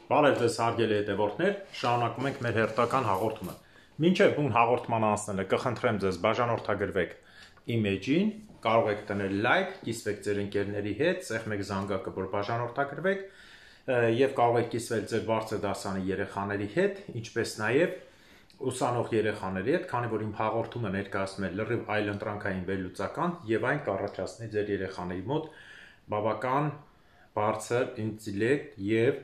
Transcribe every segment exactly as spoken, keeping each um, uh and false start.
Բարև ձեզ հարգելի հետևորդներ, շարունակում ենք մեր հերթական հաղորդումը։ Մինչև բուն հաղորդման անցնելը կխնդրեմ ձեզ բաժանորդագրվեք իմեջին, կարող եք դնել լայք, կիսվեք ձեր ընկերների հետ, սեղմեք զանգակը, որ բաժանորդագրվեք, եւ կարող եք կիսվել ձեր բարձր դասանի երեխաների հետ, ինչպես նաեւ ուսանող երեխաների հետ, քանի որ իմ հաղորդումը ներկայացնում է լրիվ այլընտրանքային վերլուծական եւ այն կառաջացնի ձեր երեխաների մոտ բավական բարձր ինտելեկտ եւ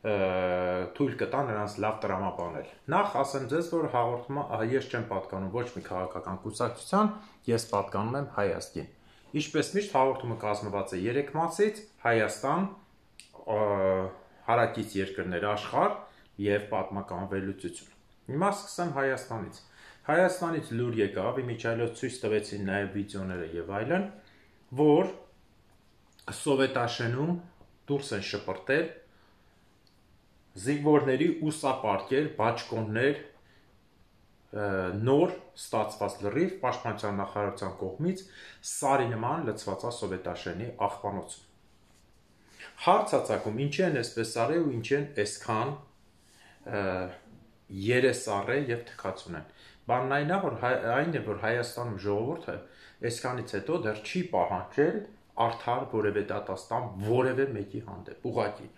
թույլ կտա նրանց լավ տրամաբանել։ Նախ ասեմ ձեզ, որ հաղորդումը ես չեմ պատկանում ոչ մի քաղաքական կուսակցության, ես պատկանում եմ Հայաստին։ Ինչպես միշտ հաղորդումը կազմված է երեք մասից՝ Հայաստան, հարակից երկրներ աշխարհ եւ պատմական վերլուծություն։ Հիմա սկսեմ Հայաստանից։ Հայաստանից լուր եկավ, իմիջիայլոց ցույց տվեցին նաեւ վիդեոները եւ այլն, որ Սովետաշենում դուրս են շպրտել զինվորների ուսապարկեր, բաճկոններ, նոր ստացված լրիվ պաշտպանության նախարարության կողմից սարի նման լցվածա Սովետաշենի աղբանոցում։ Հարցածակում ինչի են այսպես արել ու ինչի են այսքան երեսառե եւ թքածուն են։ Բանն այն է, որ այն է, որ Հայաստանում ժողովուրդը այսքանից հետո դեռ չի պահանջել արդար որևէ դատաստան որևէ մեկի հանդեպ, ուղղակի։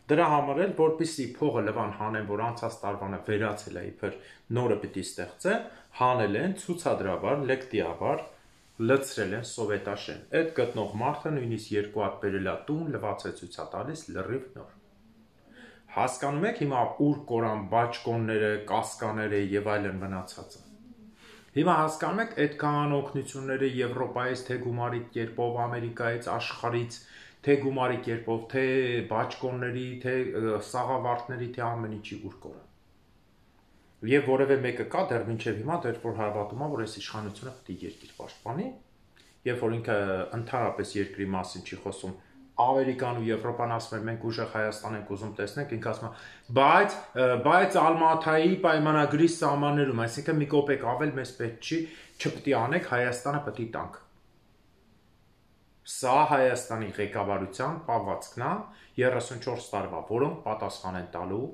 Դրա համար էլ, որպեսզի փողը լվան հանեն, որ անցած տարվանը վերացել է իբր նորը պիտի ստեղծեն, հանել են ցուցադրաբար, լեկտիաբար լցրել են Սովետաշեն։ Այդ գտնող մարդը նույնիսկ երկու հատ բերելա տուն, լվացե ցույցա տալիս լրիվ նոր։ Հասկանում եք հիմա ուր կորան բաճկոնները, կասկաները եւ այլն մնացածը։ Հիմա հասկանում եք այդքան օգնությունները Եվրոպայից, թե գումարի կերպով, Ամերիկայից, աշխարհից, թե գումարի կերպով, թե բաճկոնների, թե սաղավարտների, թե ամեն ինչի ուր կորան։ Եվ որևէ մեկը կա դեռ մինչև հիմա դեռ որ հավատում է, որ այս իշխանությունը պետք է երկիր պաշտպանի, երբ որ ինքը ընդհանրապես երկրի մասին չի խոսում, Ամերիկան ու Եվրոպան ասում են մենք ուժեղ Հայաստան ենք ուզում տեսնենք, ինքը ասում է, բայց բայց Ալմաթայի պայմանագրի սահմաններում, այսինքն մի կոպեկ ավել մեզ պետք չի, չպետք է անենք, Հայաստանը պետք է տանք։ Սա Հայաստանի ղեկավարության պահվածքն է երեսունչորս տարվա, որոնք պատասխան են տալու,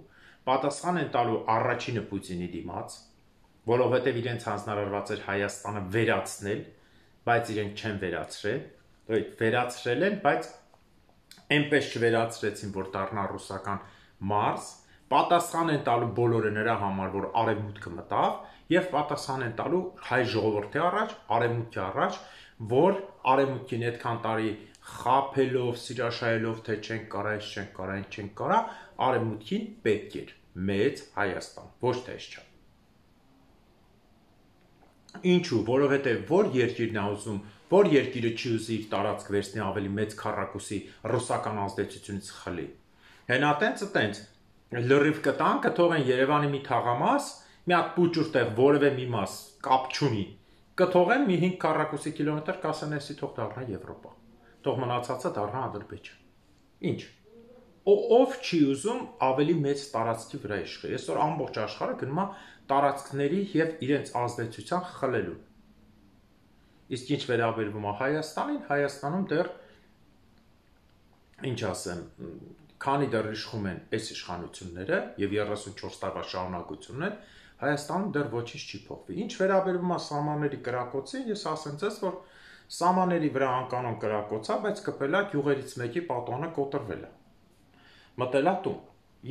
պատասխան են տալու առաջինը Պուտինի դիմաց, որովհետև իրենց հանձնարարված էր Հայաստանը վերացնել, բայց իրենք չեն վերացրել, վերացրել են, բայց այնպես չվերացրեցին, որ դառնա ռուսական Մարս, պատասխան են տալու բոլորը նրա համար, որ արևմուտքը մտավ, եւ պատասխան են տալու հայ ժողովրդի առաջ, արևմուտքի առաջ, որ արևմուտքին այդքան տարի խափելով, սիրաշայելով, թե չենք կարա, այս չենք կարա, այն չենք կարա, արևմուտքին պետք էր մեծ Հայաստան, ոչ թե այսչափ։ Ինչու, որովհետև որ երկիրն է ուզում, որ երկիրը չի ուզի իր տարածք վերցնի ավելի մեծ քառակուսի ռուսական ազդեցությունից խլի։ Հենա տենց տենց լրիվ կտան, կթողեն Երևանի մի թաղամաս, մի հատ պուճուր տեղ որևէ մի մաս կապ չունի, կթողեն մի հինգ քառակուսի կիլոմետր կասեն էսի թող դառնա Եվրոպա, թող մնացածը դառնա Ադրբեջան։ Ինչ։ Ով չի ուզում ավելի մեծ տարածքի վրա իշխի։ Այսօր ամբողջ աշխարհը գնում է տարածքների եւ իրենց ազդեցության խլելու։ Իսկ ինչ վերաբերվում է Հայաստանին, Հայաստանում դեռ ինչ ասեմ, քանի դեռ իշխում են այս իշխանությունները եւ երեսունչորս տարվա շարունակությունն են, Հայաստանում դեռ ոչինչ չի փոխվի։ Ինչ վերաբերվում է սահմանների կրակոցին, ես ասեմ ձեզ, որ սահմանների վրա անկանոն կրակոցա, բայց կպելա գյուղերից մեկի պատոնը կոտրվել է։ Մտելա տուն։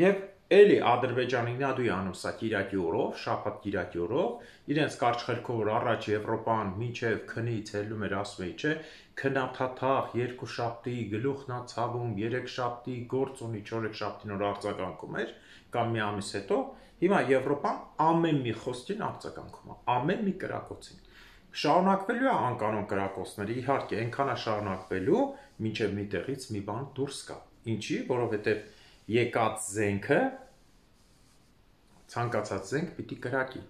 Եվ էլի Ադրբեջանը ինադու անում սա Կիրակի օրով, շաբաթ Կիրակի օրով, իրենց կարճ խելքով որ առաջ Եվրոպան մինչև քնից հելում էր ասում էի, չէ, քնաթաթախ, երկու շաբթի գլուխն ա ցավում, երեք շաբթի գործ ունի, չորեք շաբթին որ արձագանքում էր, կամ մի ամիս հետո, հիմա Եվրոպան ամեն մի խոսքին արձագանքում է, ամեն մի կրակոցին։ Շարունակվելու է անկանոն կրակոցները, իհարկե, այնքան է շարունակվելու, մինչև մի տեղից մի բան դուրս գա։ Ինչի, որովհետև եկած զենքը ցանկացած զենք պիտի կրակի։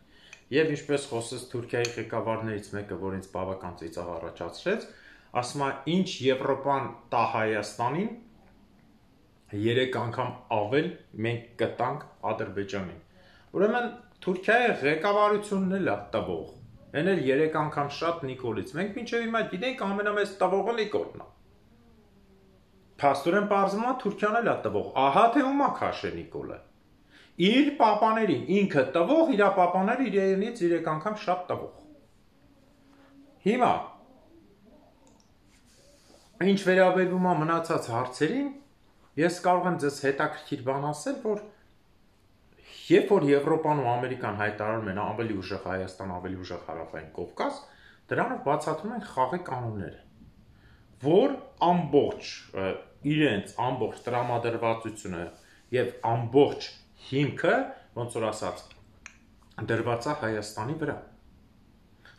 Եվ ինչպես խոսեց Թուրքիայի ղեկավարներից մեկը, որ ինձ բավական ծիծաղ առաջացրեց, ասում է, ինչ Եվրոպան տա Հայաստանին, երեք անգամ ավել մենք կտանք Ադրբեջանին։ Ուրեմն Թուրքիայի ղեկավարությունն էլ է տվող։ Այն էլ երեք անգամ շատ Նիկոլից։ Մենք մինչև հիմա գիտենք ամենամեծ տվողը Նիկոլն է։ Փաստորեն պարզվում է Թուրքիան էլ է տվող, ահա թե ումա քաշե Նիկոլը։ Իր պապաներին ինքը տվող, իր պապաները իրենից երեք անգամ շատ տվող։ Հիմա ինչ վերաբերվում է մնացած հարցերին, ես կարող եմ ձեզ հետաքրքիր բան ասել, որ երբ որ Եվրոպան ու Ամերիկան հայտարարում են ավելի ուժեղ Հայաստան, ավելի ուժեղ Հարավային Կովկաս, դրանով բացատրում են խաղի կանոնները, որ ամբողջ իրենց ամբողջ տրամադրվածությունը եւ ամբողջ հիմքը, ոնց որ ասած, դրված է Հայաստանի վրա։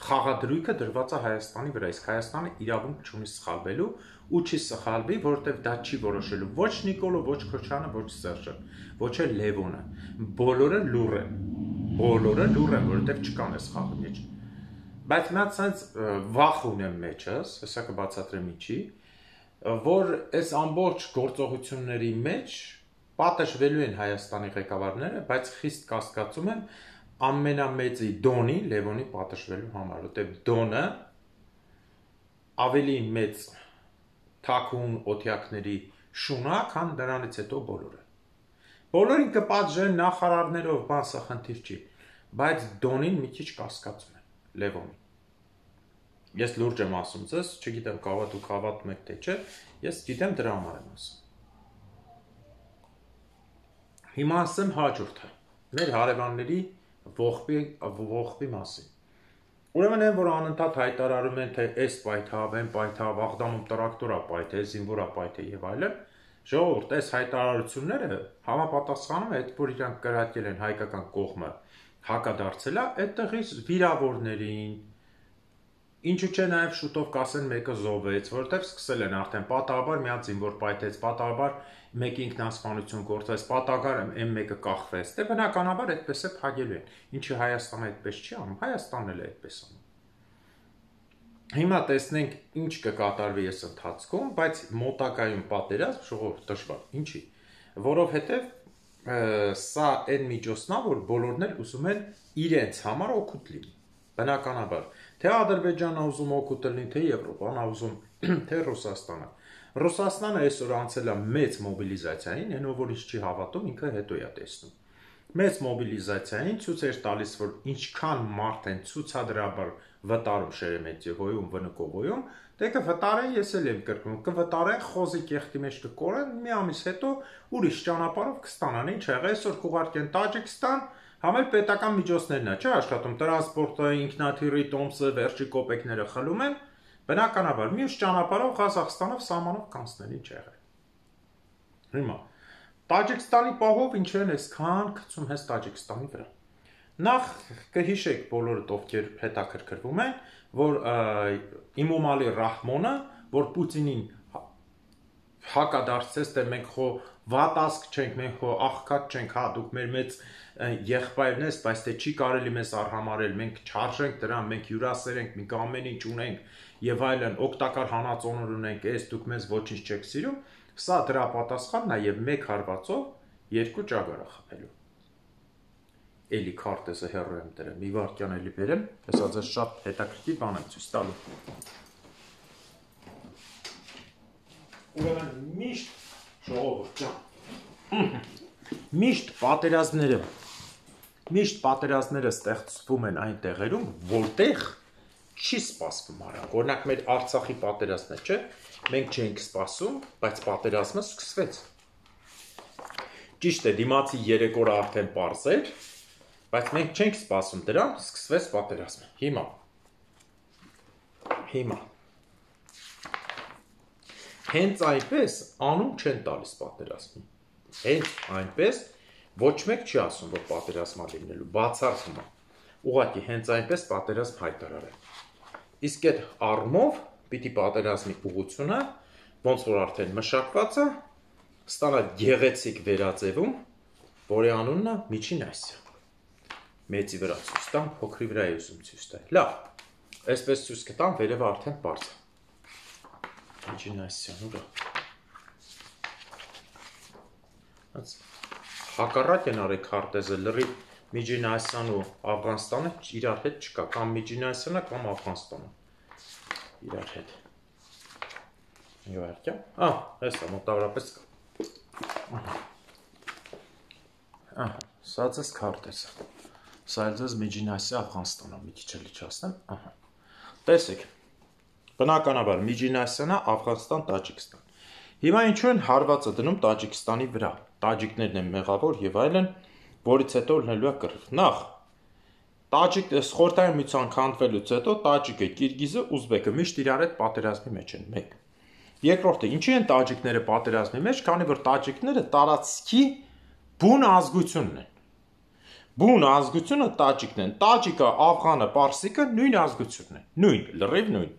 Խաղադրույքը դրված է Հայաստանի վրա, իսկ Հայաստանը իրավունք չունի սխալվելու ու չի սխալվի, որովհետև դա չի որոշելու ոչ Նիկոլը, ոչ Քոչարյանը, ոչ Սերժը, ոչ էլ Լևոնը։ Բոլորը լուռ են։ Բոլորը լուռ են, որովհետև չկան այս խաղի մեջ։ Բայց նա ցած վախ ունեմ մեջս, հեսա կբացատրեմ ինչի, որ այս ամբողջ գործողությունների մեջ պատժվելու են Հայաստանի ղեկավարները, բայց խիստ կասկածում եմ ամենամեծի Դոնի, Լևոնի պատժվելու համար, որտեղ Դոնը ավելի մեծ թաքուն օթյակների շունա, քան դրանից հետո բոլորը։ Բոլորին կպատժեն նախարարներով, բան սա խնդիր չի, բայց Դոնին մի քիչ կասկածում եմ, Լևոնին։ Ես լուրջ եմ ասում ձեզ, չգիտեմ կավա դուք հավատում եք թե չէ, ես գիտեմ դրա համար եմ ասում։ Հիմա ասեմ հաջորդը, մեր հարևանների ողբի, ողբի մասին։ Ուրեմն են, որ անընդհատ հայտարարում են, թե այս պայթավ, են պայթավ, Աղդամում տրակտորա պայթե, զինվորա պայթե եւ այլն, ժողովուրդ, այս հայտարարությունները համապատասխանում է այդ, որ իրանք կրակել են հայկական կողմը հակադարձել է, այդտեղից վիրավորներին, ինչու՞ չէ նաև շուտով կասեն մեկը զոհվեց, որովհետև սկսել են արդեն պատահաբար մի հատ զինվոր պայթեց, պատահաբար մեկի ինքնասպանություն գործեց, պատահաբար էմ մեկը կախվեց, դե բնականաբար այդպես է փակելու են, ինչի Հայաստանը այդպես չի անում, Հայաստանն էլ է այդպես անում։ Հիմա տեսնենք ինչ կկատարվի այս ընթացքում, բայց մոտակայում պատերազմ ժողովուրդ դժվար, ինչի, որովհետև սա այն միջոցն է, որ բոլորն էլ ուզում են իրենց համար օգուտ լինի, բնականաբար, թե Ադրբեջանը ուզում օգուտ լինի, թե Եվրոպան ուզում, թե Ռուսաստանը։ Ռուսաստանը այսօր անցել է մեծ մոբիլիզացիային, այնով որ ինչ չի հավատում, ինքը հետո է տեսնում։ Մեծ մոբիլիզացիային ցույց էր տալիս, որ ինչքան մարդ են ցուցադրաբար վտարում Շերեմետիևոյում, Վնկովոյում, դե կվտարեն, ես էլ եմ կրկնում, կվտարեն, խոզի կեղտի մեջ կկորեն, մի ամիս հետո ուրիշ ճանապարհով կստանան, ինչ եղավ, այսօր կուղարկեն Տաջիկստան, համել պետական միջոցներն է, չէ՞ աշխատում, տրանսպորտը, ինքնաթիռի տոմսը, վերջի կոպեկները խլում են, բնականաբար մյուս ճանապարհով Ղազախստանով սահմանով կանցնել, ինչ եղավ։ Հիմա Տաջիկստանի պահով ինչ են այսքան գցում հենց Տաջիկստանի վրա։ Նախ կհիշեք բոլորդ ովքեր հետաքրքրվում են, որ Իմոմալի Ռահմոնը, որ Պուտինին հակադարձեց, թե մենք խո վատասկ չենք, մենք խո աղքատ չենք, հա, դուք մեր մեծ եղբայրն ես, բայց թե չի կարելի մեզ արհամարել, մենք չարժենք դրան, մենք հյուրասեր ենք, մենք ամեն ինչ ունենք եւ այլն, օգտակար հանածոններ ունենք, այս դուք մեզ ոչինչ չեք սիրում, սա դրա պատասխանն է եւ մեկ հարվածով երկու ճագարա խփելու։ Էլի քարտեզը հեռու եմ դրել, մի վարքյան էլի բերեմ, հեսա ձեզ շատ հետաքրքիր բան եմ ցույց տալու։ Ուրեմն միշտ ժողովուրդ ջան, միշտ պատերազմները, միշտ պատերազմները ստեղծվում են այն տեղերում, որտեղ չի սպասվում արագ։ Օրինակ մեր Արցախի պատերազմն է, չէ՞, մենք չենք սպասում, բայց պատերազմը սկսվեց։ Ճիշտ է, դիմացի երեք օր արդեն պարզ էր, բայց մենք չենք սպասում դրան, սկսվեց պատերազմը։ Հիմա։ Հիմա։ Հենց այնպես անուն չեն տալիս պատերազմին։ Հենց այնպես ոչ մեկ չի ասում, որ պատերազմա լինելու, բացառվում է։ Ուղղակի հենց այնպես պատերազմ հայտարարել։ Իսկ այդ առումով պիտի պատերազմի ուղղությունը, ոնց որ արդեն մշակված է, ստանա գեղեցիկ վերածևում, որի անունն է Միջին Ասիա։ Մեծի վրա ցույց տամ, փոքրի վրա է ուզում ցույց տալ։ Լավ, այսպես ցույց կտամ, վերևը արդեն բարձ է։ Միջին Ասիան ուրա։ Հակառակ են արել քարտեզը, լրիվ Միջին Ասիան ու Աֆղանստանը իրար հետ չկա, կամ Միջին Ասիանը, կամ Աֆղանստանը իրար հետ։ Իվարկյա։ Ահ, հեսա մոտավորապես կա։ Ահա, սա ձեզ քարտեզ։ Սա էլ ձեզ Միջին Ասիա Աֆղանստանն է, մի քիչ էլ իջացնեմ, ահա։ Տեսեք։ Բնականաբար Միջին Ասիան, Աֆղանստան, Տաջիկստան։ Հիմա ինչու են հարվածը դնում Տաջիկստանի վրա։ Տաջիկներն են մեղավոր եւ այլն, որից հետո լինելու է կռիվ։ Նախ Տաջիկ Խորհրդային միության քանդվելուց հետո Տաջիկը, Կիրգիզը, Ուզբեկը միշտ իրար հետ պատերազմի մեջ են, մեկ։ Երկրորդը, ինչի են տաջիկները պատերազմի մեջ, քանի որ տաջիկները տարածքի բուն ազգությունն են։ Բուն ազգությունը տաջիկն են։ Տաջիկը, աֆղանը, պարսիկը նույն ազգությունն են։ Նույն, լրիվ նույն։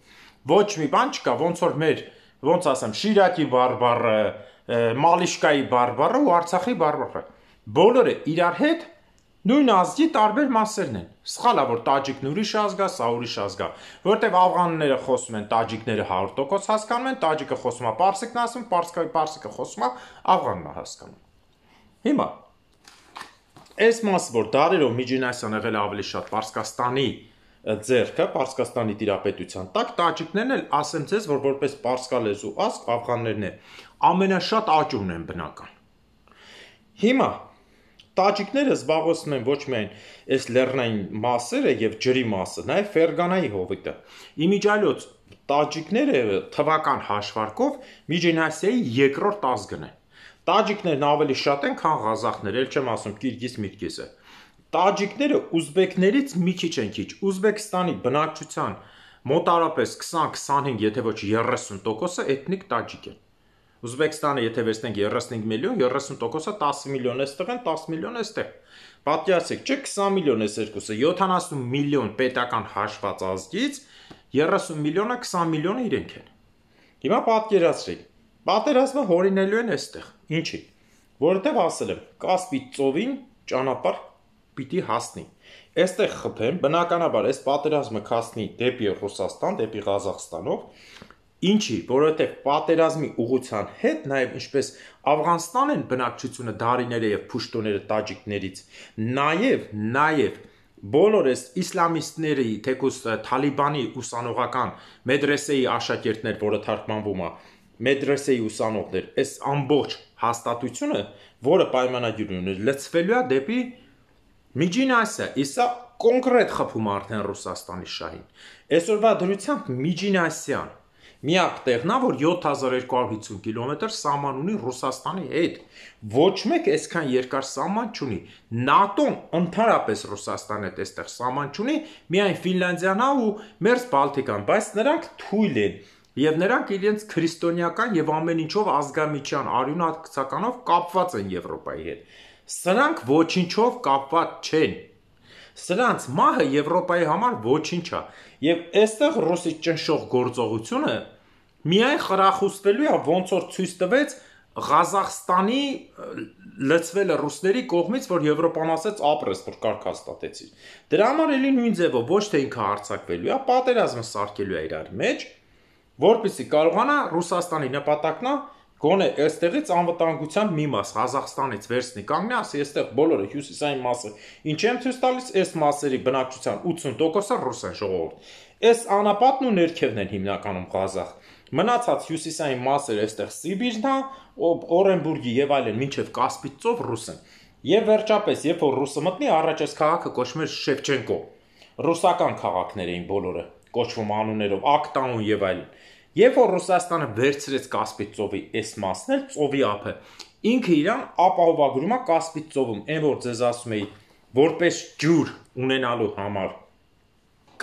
Ոչ մի բան չկա, ոնց որ մեր, ոնց ասեմ, Շիրակի բարբառը, Մալիշկայի բարբառը ու Արցախի բարբառը։ Բոլորը իրար հետ նույն ազգի տարբեր մասերն են։ Սխալ է, որ տաջիկն ուրիշ ազգ է, սա ուրիշ ազգ է, որտեղ աֆղանները խոսում են, տաջիկները հարյուր տոկոս հասկանում են, տաջիկը խոսում է, պարսիկն ասում, պարսիկը խոսում է, աֆղանն է հասկանում։ Հիմա այս մասը, որ դարերով Միջին Ասիան եղել ավելի շատ Պարսկաստանի ձեռքը, Պարսկաստանի տիրապետության տակ, տաջիկներն էլ ասեմ ձեզ, որ որպես պարսկալեզու ազգ աֆղաններն է ամենաշատ աճուրն են բնական։ Հիմա տաջիկները զբաղեցնում են ոչ միայն այս լեռնային մասերը եւ ջրի մասը, նաեւ Ֆերգանայի հովիտը։ Իմիջիայլոց տաջիկները թվական հաշվարկով Միջին Ասիայի երկրորդ ազգն են։ Տաջիկներն ավելի շատ են, քան ղազախները, ել չեմ ասում Կիրգիզ-Միրգիզը։ Տաջիկները ուզբեկներից մի քիչ են քիչ։ Ուզբեկստանի բնակչության մոտարապես քսան-քսանհինգ, եթե ոչ երեսուն տոկոսը էթնիկ տաջիկ են։ Ուզբեկստանը, եթե վերցնենք երեսունհինգ միլիոն, երեսուն տոկոսը տասը միլիոն էստեղ են, տասը միլիոն էստեղ։ Պատկերացրեք, չէ՞ քսան միլիոն էս երկուսը, յոթանասուն միլիոն պետական հաշված ազգից, երեսուն միլիոնը, քսան միլիոնը իրենք են։ Հիմա պատկերացրեք, պատերազմը հորինելու են էստեղ։ Ինչի՞։ Որովհետև ասել եմ, Կասպի ծովին ճանապարհ պիտի հասնի։ Այստեղ խփեն, բնականաբար այս պատերազմը կհասնի դեպի Ռուսաստան, դեպի Ղազախստանով։ Ինչի, որովհետև պատերազմի ուղղության հետ նաև ինչպես Աֆղանստան են բնակչությունը դարիները եւ փուշտոները տաջիկներից, նաև նաև բոլոր այս իսլամիստների, թեկուզ Թալիբանի ուսանողական մեդրեսեի աշակերտներ, որը թարգմանվում է մեդրեսեի ուսանողներ, այս ամբողջ հաստատությունը, որը պայմանագիր ունի, լցվելու է դեպի Միջին Ասիա, իսա կոնկրետ խփում արդեն Ռուսաստանի շահին։ Այսօրվա դրությամբ Միջին Ասիան միակ տեղն է, որ յոթ հազար երկու հարյուր հիսուն կիլոմետր սահման ունի Ռուսաստանի հետ։ Ոչ մեկ այսքան երկար սահման չունի։ ՆԱՏՕ-ն ընդհանրապես Ռուսաստանի հետ այստեղ սահման չունի, միայն Ֆինլանդիան է ու Մերձ Բալտիկան, բայց նրանք թույլ են եւ նրանք իրենց քրիստոնեական եւ ամեն ինչով ազգամիջյան արյունացականով կապված են Եվրոպայի հետ։ Սրանք ոչինչով կապված չեն։ Սրանց մահը Եվրոպայի համար ոչինչ է։ Եվ այստեղ ռուսի ճնշող գործողությունը միայն խրախուսվելու է, ոնց որ ցույց տվեց Ղազախստանի լցվելը ռուսների կողմից, որ Եվրոպան ասեց ապրես, որ կարգ հաստատեցի։ Դրա համար էլի նույն ձևով ոչ թե ինքը հարձակվելու է, պատերազմը սարքելու է իրար մեջ, որպեսզի կարողանա Ռուսաստանի նպատակն է գոնե այստեղից անվտանգության մի մաս Ղազախստանից վերցնի կանգնի, ասի այստեղ բոլորը հյուսիսային մասը ինչ եմ ցույց տալիս, այս մասերի բնակչության ութսուն տոկոսը ռուս են ժողովուրդ։ Այս անապատն ու ներքևն են հիմնականում Ղազախ։ Մնացած հյուսիսային մասերը այստեղ Սիբիրն է, Օրենբուրգի եւ այլն, մինչեւ Կասպից ծով ռուս են։ Եվ վերջապես, երբ որ ռուսը մտնի, առաջ այս քաղաքը կոչվում էր Շևչենկո։ Ռուսական քաղաքներ էին բոլորը, կոչվում անուններով Ակտաուն եւ այլն։ Երբ որ Ռուսաստանը վերցրեց Կասպից ծովի այս մասն էլ, ծովի ափը, ինքը իրան ապահովագրում է Կասպից ծովում, այն որ ձեզ ասում էի, որպես ջուր ունենալու համար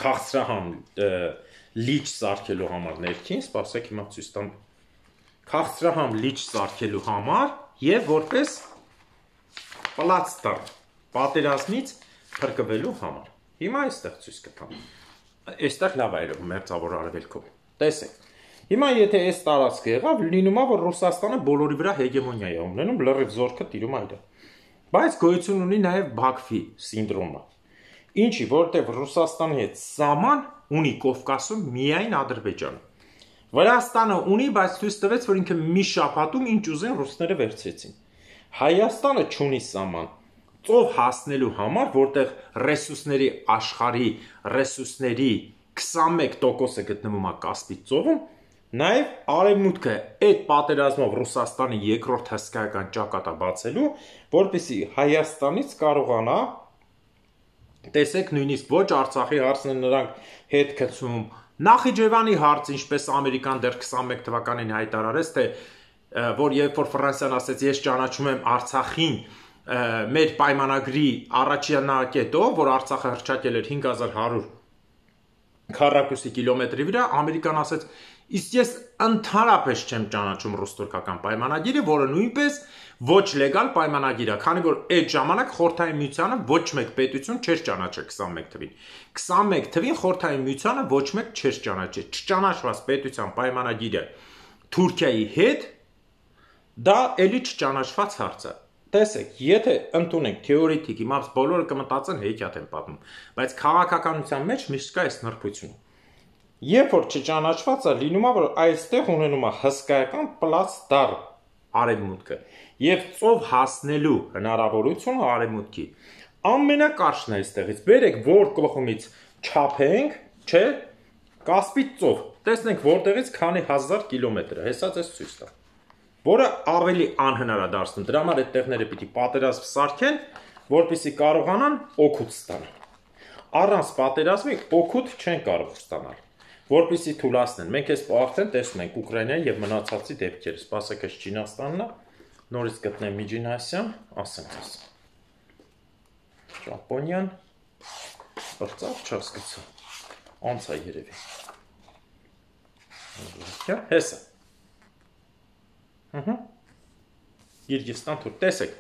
քաղցրահամ լիճ սարքելու համար ներքին, սպասեք հիմա ցույց տամ, քաղցրահամ լիճ սարքելու համար եւ որպես պլացդարմ պատերազմից փրկվելու համար։ Հիմա այստեղ ցույց կտամ։ Այստեղ լավ է երևում մերձավոր արևելքով։ Տեսեք։ Հիմա եթե այս տարածքը եղավ, լինում է, որ Ռուսաստանը բոլորի վրա հեգեմոնիա է ունենում, լրիվ զորքը տիրում է իր։ Բայց գոյություն ունի նաև Բաքվի սինդրոմը։ Ինչի, որտեղ Ռուսաստանի հետ սահման ունի Կովկասում միայն Ադրբեջանը։ Վրաստանը ունի, բայց ցույց տվեց, որ ինքը մի շաբաթում ինչ ուզեն ռուսները վերցրեցին։ Հայաստանը չունի սահման։ Ծով հասնելու համար, որտեղ ռեսուրսների աշխարհի ռեսուրսների քսանմեկ տոկոսը գտնվում է Կասպից ծովում, Նաև արևմուտքը այդ պատերազմով Ռուսաստանի երկրորդ հսկայական ճակատը բացելու, որպեսզի Հայաստանից կարողանա, տեսեք, նույնիսկ ոչ Արցախի հարցն են նրանք հետ գցում, Նախիջևանի հարց, ինչպես Ամերիկան դեռ քսանմեկ թվականին հայտարարեց, թե որ երբ որ Ֆրանսիան ասեց, ես ճանաչում եմ Արցախին մեր պայմանագրի առաջնակետով, որ Արցախը հռչակել էր հինգ հազար հարյուր քառակուսի կիլոմետրի վրա, Ամերիկան ասեց, իսկ ես ընդհանրապես չեմ ճանաչում ռուս-թուրքական պայմանագիրը, որը նույնպես ոչ լեգալ պայմանագիր է, քանի որ այդ ժամանակ Խորհրդային Միությանը ոչ մեկ պետություն չէր ճանաչել քսանմեկ թվին։ քսանմեկ թվին Խորհրդային Միությանը ոչ մեկ չէր ճանաչել։ Չճանաչված պետության պայմանագիրը Թուրքիայի հետ դա էլի չճանաչված հարց է։ Տեսեք, եթե ընդունենք թեորետիկ, իմաց բոլորը կմտածեն հեքիաթ են պատմում, բայց քաղաքականության մեջ միշտ կա այս նրբությունը։ Երբ որ չճանաչված է, լինում է, որ այստեղ ունենում է հսկայական պլաց դառ արևմուտքը եւ ծով հասնելու հնարավորությունը արևմուտքի ամենակարճն է այստեղից։ Բերեք որ կողմից չափենք, չէ, Կասպից ծով։ Տեսնենք որտեղից քանի հազար կիլոմետր է, հեսա ձեզ ցույց տա։ Որը ավելի անհնար է դարձնում։ Դրա համար այդ տեղները պիտի պատերազմ սարքեն, որպեսզի կարողանան օգուտ ստանալ։ Առանց պատերազմի օգուտ չեն կարող ստանալ, որպեսզի թուլացնեն։ Մենք այս արդեն տեսնում ենք Ուկրաինայի եւ մնացածի դեպքերը։ Սպասեք, այս Չինաստանն է, նորից գտնեմ Միջին Ասիան, ասենք ես։ Ճապոնիան, բրծավ չհասկացա։ Անց է երևի։ Հեսա։ Ահա։ Կիրգիզստան թուր, տեսեք։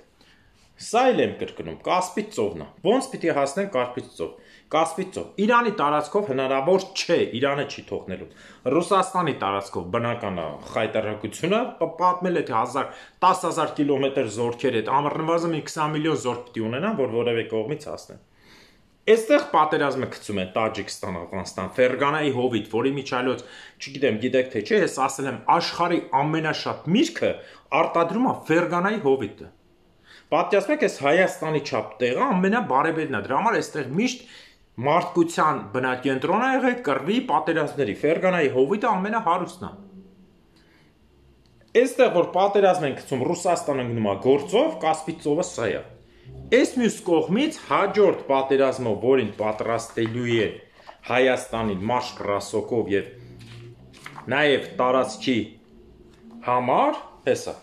Սա էլ եմ կրկնում, Կասպից ծովն է։ Ոնց պիտի հասնեն Կասպից ծով։ Կասպից ծով։ Իրանի տարածքով հնարավոր չէ, Իրանը չի թողնելու։ Ռուսաստանի տարածքով բնական է խայտարակությունը, պատմել է թե տասը հազար կիլոմետր զորքեր հետ, ամառնվազն քսան միլիոն զորք պիտի ունենան, որ որևէ կողմից հասնեն։ Այստեղ պատերազմը գցում են Տաջիկստան, Աֆղանստան, Ֆերգանայի հովիտ, որի միջայլոց, չգիտեմ, գիտեք թե չէ, ես ասել եմ, աշխարհի ամենաշատ միրգը արտադրում է Ֆերգանայի հովիտը։ Պատկերացնեք, այս Հայաստանի չափ տեղը ամենաբարեբերն է, դրա համար այստեղ միշտ մարդկության բնակենտրոն է եղել կռվի պատերազմների, Ֆերգանայի հովիտը ամենահարուստն է։ Այստեղ որ պատերազմ են գցում, Ռուսաստանը գնում է գործով, Կասպից ծովը սա է։ Այս մյուս կողմից հաջորդ պատերազմով, որին պատրաստելու է Հայաստանին մաշկրասոկով եւ նաեւ տարածքի համար, հեսա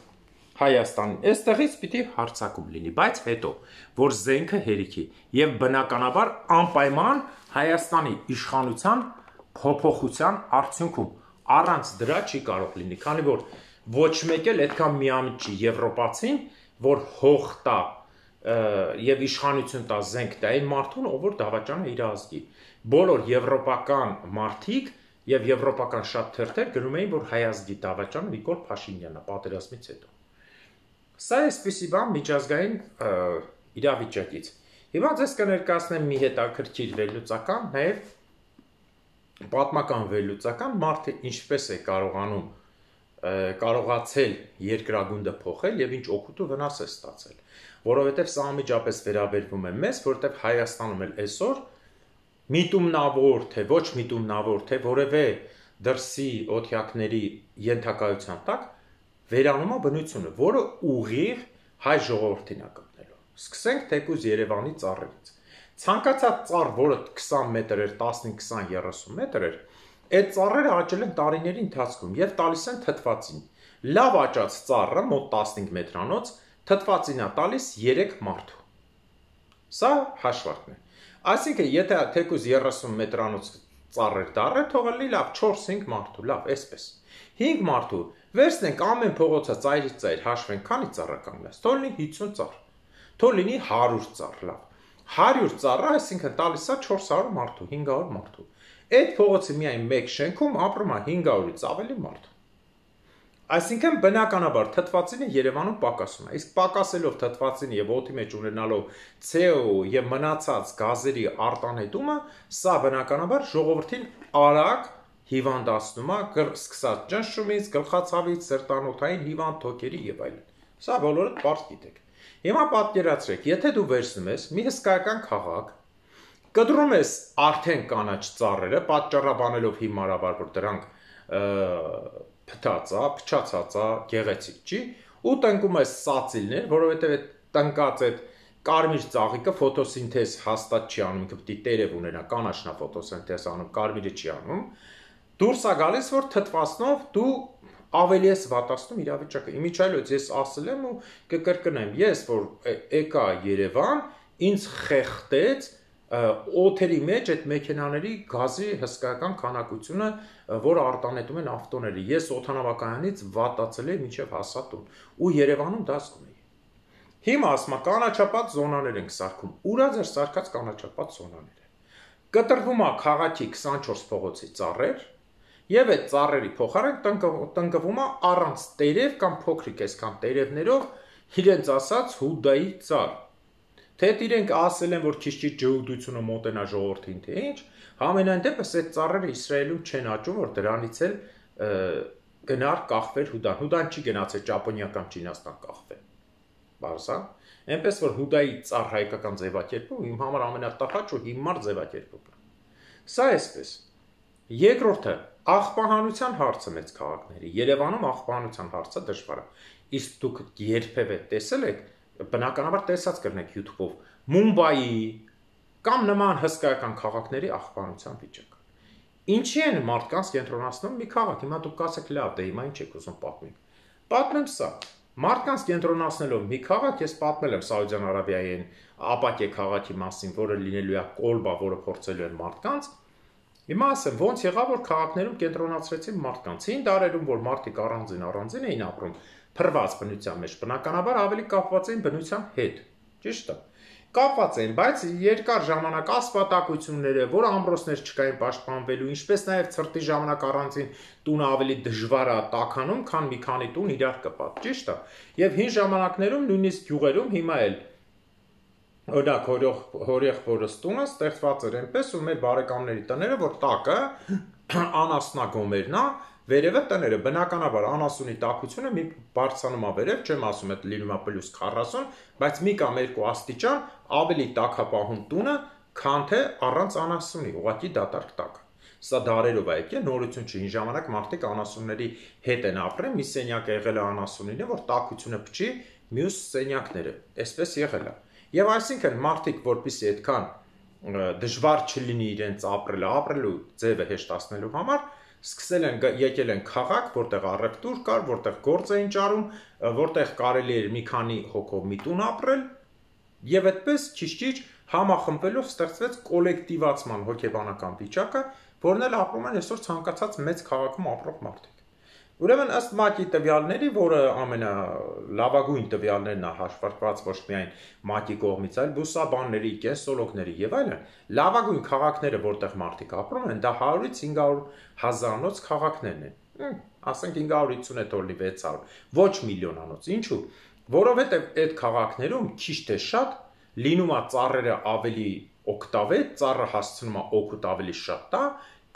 Հայաստանին, այստեղից պիտի հարձակում լինի, բայց հետո որ զենքը հերիքի եւ բնականաբար անպայման Հայաստանի իշխանության փոփոխության արդյունքում առանց դրա չի կարող լինի, քանի որ ոչ մեկ էլ այդքան միամիտ չի եվրոպացին, որ հող տա եւ իշխանություն տա զենք տա այն մարդուն, ով որ դավաճանը իր ազգի։ Բոլոր եվրոպական մարդիկ եւ եվրոպական շատ թերթեր գրում էին, որ հայ ազգի դավաճանը Նիկոլ Փաշինյանն է պատերազմից հետո։ Սա էսպիսի բան միջազգային իրավիճակից։ Հիմա ձեզ կներկայացնեմ մի հետաքրքիր վերլուծական, նաեւ պատմական վերլուծական, մարդը ինչպես է կարողանում կարողացել երկրագունդը փոխել եւ ինչ օգուտ ու վնաս է ստացել։ Որովհետև սա անմիջապես վերաբերվում է մեզ, որովհետև Հայաստանում էլ այսօր միտումնավոր, թե ոչ միտումնավոր, թե որևէ դրսի օթյակների ենթակայության տակ վերանում է բնությունը, որը ուղիղ հայ ժողովրդին է կապնելու։ Սկսենք թեկուզ Երևանի ծառերից։ Ցանկացած ծառ, որը քսան մետր էր, տասնհինգ, քսան, երեսուն մետր էր, այդ ծառերը աճել են տարիների ընթացքում եւ տալիս են թթվածին։ Լավ աճած ծառը մոտ տասնհինգ մետրանոց թթվածին է տալիս երեք մարդու։ Սա հաշվարկն է։ Այսինքն, եթե թեկուզ երեսուն մետրանոց ծառեր դառը, թողել լի լավ չորս-հինգ մարդու, լավ, այսպես։ հինգ մարդու, վերցնենք ամեն փողոցը ծայրից ծայր հաշվենք, քանի ծառ կանգնած, թող լինի հիսուն ծառ, թող լինի հարյուր ծառ, լավ։ հարյուր ծառը, այսինքն տալիս է չորս հարյուր մարդու, հինգ հարյուր մարդու։ Այդ փողոցի միայն մեկ շենքում ապրում է հինգ հարյուրից ավելի մարդ։ Այսինքն բնականաբար թթվածինը Երևանում պակասում է, իսկ պակասելով թթվածինը եւ օդի մեջ ունենալով C O եւ մնացած գազերի արտանետումը, սա բնականաբար ժողովրդին արագ հիվանդացնում է, սկսած ճնշումից, գլխացավից, սրտանոթային հիվանդ թոքերի եւ այլն։ Սա բոլորը պարզ գիտեք։ Հիմա պատկերացրեք, եթե դու վերցնում ես մի հսկայական քաղաք, կտրում ես արդեն կանաչ ծառերը, պատճառաբանելով հիմարաբար, որ դրանք փտած է, փչացած է, գեղեցիկ չի, ու տնկում ես սացիլներ, որովհետև այդ տնկած այդ կարմիր ծաղիկը ֆոտոսինթեզ հաստատ չի անում, ինքը պետք է տերև ունենա, կանաչնա ֆոտոսինթեզ անում, կարմիրը չի անում, դուրս է գալիս, որ թթվասնով դու ավելի ես վատացնում իրավիճակը։ Իմիջիայլոց ես ասել եմ ու կկրկնեմ, ես որ եկա Երևան, ինձ խեղդեց օթերի մեջ այդ մեքենաների գազի հսկայական քանակությունը, որ արտանետում են ավտոները։ Ես օդանավակայանից վատացել եմ մինչև հասա տուն ու Երևանում դա զգում էի։ Հիմա ասում եմ կանաչապատ զոնաներ ենք սարքում։ Ուրա ձեր սարքած կանաչապատ զոնաները։ Կտրվում է քաղաքի քսանչորս փողոցի ծառեր, եւ այդ ծառերի փոխարեն տնկվում է առանց տերև կամ փոքրիկ այսքան տերևներով իրենց ասած հուդայի ծառ։ Թե իրենք ասել են, որ քիչ-քիչ ջհուդությունը մոտենա ժողովրդին, թե ինչ, համենայն դեպս այդ ծառերը Իսրայելում չեն աճում, որ դրանից էլ գնար կախվեր հուդան։ Հուդան չի գնացել ճապոնիական Չինաստան կախվել։ Բարձա։ Այնպես որ հուդայի ծառ հայկական ձևակերպում իմ համար ամենատախաչ ու հիմար ձևակերպումն է։ Սա էսպես։ Երկրորդը աղբահանության հարցը մեծ քաղաքների։ Երևանում աղբահանության հարցը դժվար է։ Իսկ դուք երբևէ տեսել եք, բնականաբար տեսած կրնեք YouTube-ով Մումբայի կամ նման հսկայական քաղաքների աղբահանության վիճակը։ Ինչի են մարդկանց կենտրոնացնում մի քաղաք։ Հիմա դուք կասեք լավ, դե հիմա ինչ եք ուզում պատմել։ Պատմեմ սա։ Մարդկանց կենտրոնացնելով մի քաղաք, ես պատմել եմ Սաուդյան Արաբիայի ապակե քաղաքի մասին, որը լինելու է կոլբա, որը փորձելու են մարդկանց։ Հիմա ասեմ, ոնց եղավ, որ քաղաքներում կենտրոնացրեցին մարդկանց։ Հին դարերում, որ մարդիկ առանձին առանձին էին ապրում, փրված բնության մեջ, բնականաբար ավելի կապված էին բնության հետ։ Ճիշտ է։ Կապված էին, բայց երկար ժամանակ ասֆալտակությունները, որ ամրոցներ չկային պաշտպանվելու, ինչպես նաև ցրտի ժամանակ առանձին տունը ավելի դժվար է տաքանում, քան մի քանի տուն իրար կպած, ճիշտ է։ Եվ հին ժամանակներում նույնիսկ գյուղերում հիմա էլ օրինակ հորեղբորս տունը ստեղծված էր այնպես ու մեր բարեկամների տները, որ տակը անասնագոմերն է, վերևը տները, բնականաբար անասունի տաքությունը մի բարձրանում է վերև, չեմ ասում այդ լինում է պլյուս քառասուն, բայց մի կամ երկու աստիճան ավելի տաքապահում տունը, քան թե առանց անասունի, ուղղակի դատարկ տակ։ Սա դարերով է եկել, նորություն չի, հին ժամանակ մարդիկ անասունների հետ են ապրել, մի սենյակ եղել է անասունին, որ տաքությունը փչի, մյուս սենյակները, այսպես եղել է։ Եվ այսինքն մարդիկ, որպեսզի այդքան դժվար չլինի իրենց ապրելը, ապրելու ձևը հեշտացնելու համար, սկսել են եկել են քաղաք, որտեղ առևտուր կար, որտեղ գործ էին ճարում, որտեղ կարելի էր մի քանի հոգով մի տուն ապրել, եւ այդպես քիչ-քիչ համախմբվելով ստեղծվեց կոլեկտիվացման հոգեբանական վիճակը, որն էլ ապրում են այսօր ցանկացած մեծ քաղաքում ապրող մարդիկ։ Ուրեմն ըստ ՄԱԿ-ի տվյալների, որը ամենալավագույն տվյալներն է հաշվարկված ոչ միայն ՄԱԿ-ի կողմից, այլ բուսաբանների, կենսոլոգների եւ այլն, լավագույն քաղաքները, որտեղ մարդիկ ապրում են, դա հարյուրից հինգ հարյուր հազարանոց քաղաքներն են։ Ասենք հինգ հարյուր հիսուն թողնի վեց հարյուր, ոչ միլիոնանոց։ Ինչու՞։ Որովհետեւ այդ քաղաքներում քիչ թե շատ լինում է ծառերը ավելի օգտավետ, ծառը հասցնում է օգուտ ավելի շատ տա,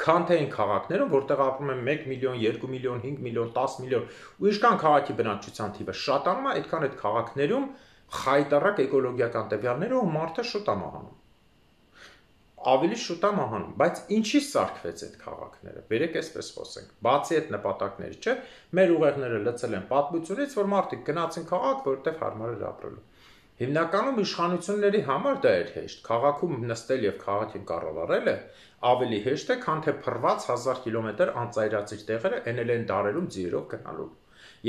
քան թե այն քաղաքներում, որտեղ ապրում են մեկ միլիոն, երկու միլիոն, հինգ միլիոն, տաս միլիոն, ու ինչքան քաղաքի բնակչության թիվը շատանում է, այդքան այդ քաղաքներում խայտառակ էկոլոգիական տվյալները ու մարդը շուտ է մահանում։ Ավելի շուտ է մահանում, բայց ինչի սարքվեց այդ քաղաքները։ Բերեք այսպես խոսենք։ Բացի այդ նպատակների, չէ՞, մեր ուղեղները լցել են պատմությունից, որ մարդիկ գնացին քաղաք, որտեղ հարմար էր ապրելու։ Հիմնականում իշխանությունների համար դա էր հեշտ։ Քաղաքում նստել եւ քաղաքին կառավարելը ավելի հեշտ է, քան թե փռված հազար կիլոմետր անծայրածիր տեղերը էնել են դարերում ձիերով գնալու։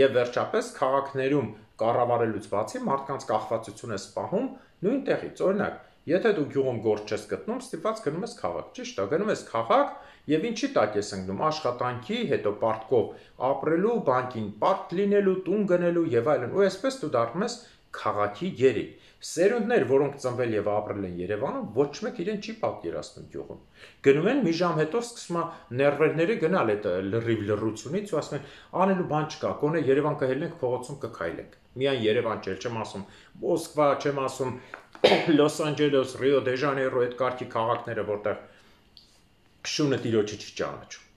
Եվ վերջապես քաղաքներում կառավարելուց բացի մարդկանց կախվածություն է սպահում նույն տեղից։ Օրինակ, եթե դու գյուղում գործ չես գտնում, ստիպված գնում ես քաղաք, ճիշտ է, գնում ես քաղաք եւ ինչի տակ ես ընկնում, աշխատանքի, հետո պարտքով ապրելու, բանկին պարտ լինելու, տուն գնելու եւ այլն։ Ու այսպես դու դառնում ես քաղաքի երիկ։ Սերունդներ, որոնք ծնվել եւ ապրել են Երևանում, ոչ մեկ իրեն չի պատկերացնում գյուղում։ Գնում են մի ժամ հետո սկսում է ներվերները գնալ այդ լրիվ լռությունից ու ասում են, անելու բան չկա, գոնե Երևան կհելնենք, փողոցում կքայլենք։ Միայն Երևան չէ, չեմ ասում Մոսկվա, չեմ ասում Լոս Անջելես, Ռիո դե Ժանեյրո այդ կարգի քաղաքները, որտեղ շունը տիրոջը չի ճանաչում։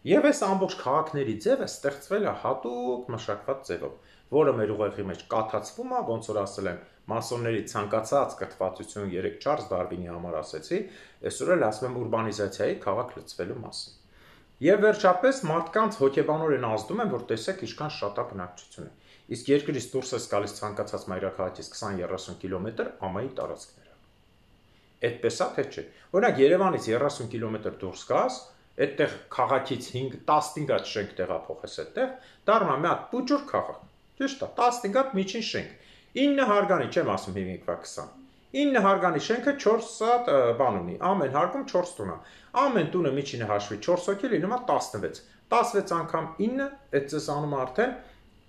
Եվ այս ամբողջ քաղաքների ձևը ստեղծվել է հատուկ մշակված ձևով, որը մեր ուղեղի մեջ կաթացվում է, ոնց որ ասել եմ, մասոնների ցանկացած կրթվածություն երեք Չարլզ Դարվինի համար ասեցի, այսօր էլ ասում եմ ուրբանիզացիայի քաղաք լցվելու մասին։ Եվ վերջապես մարդկանց հոգեբանորեն ազդում են, որ տեսեք ինչքան շատ է բնակչությունը։ Իսկ երկրից դուրս ես գալիս ցանկացած մայրաքաղաքից քսան երեսուն կիլոմետր ամայի տարածքները։ Այդպես է թե չէ։ Օրինակ Երևանից երեսուն կիլոմետր դուրս գաս, այդտեղ քաղաքից հինգ տասնհինգ հատ շենք տեղափոխես այդտեղ, դառնա մի հատ փուճուր քաղաք։ Ճիշտ է, տասնհինգ հատ միջին շենք։ ինը հարգանի չեմ ասում հիմիկվա քսան։ ինը հարգանի շենքը չորս հատ բան ունի, ամեն հարկում չորս տուն է։ Ամեն տունը միջինը հաշվի չորս հոգի լինում է տասնվեց։ տասնվեց անգամ ինը, այդ ծես անում է արդեն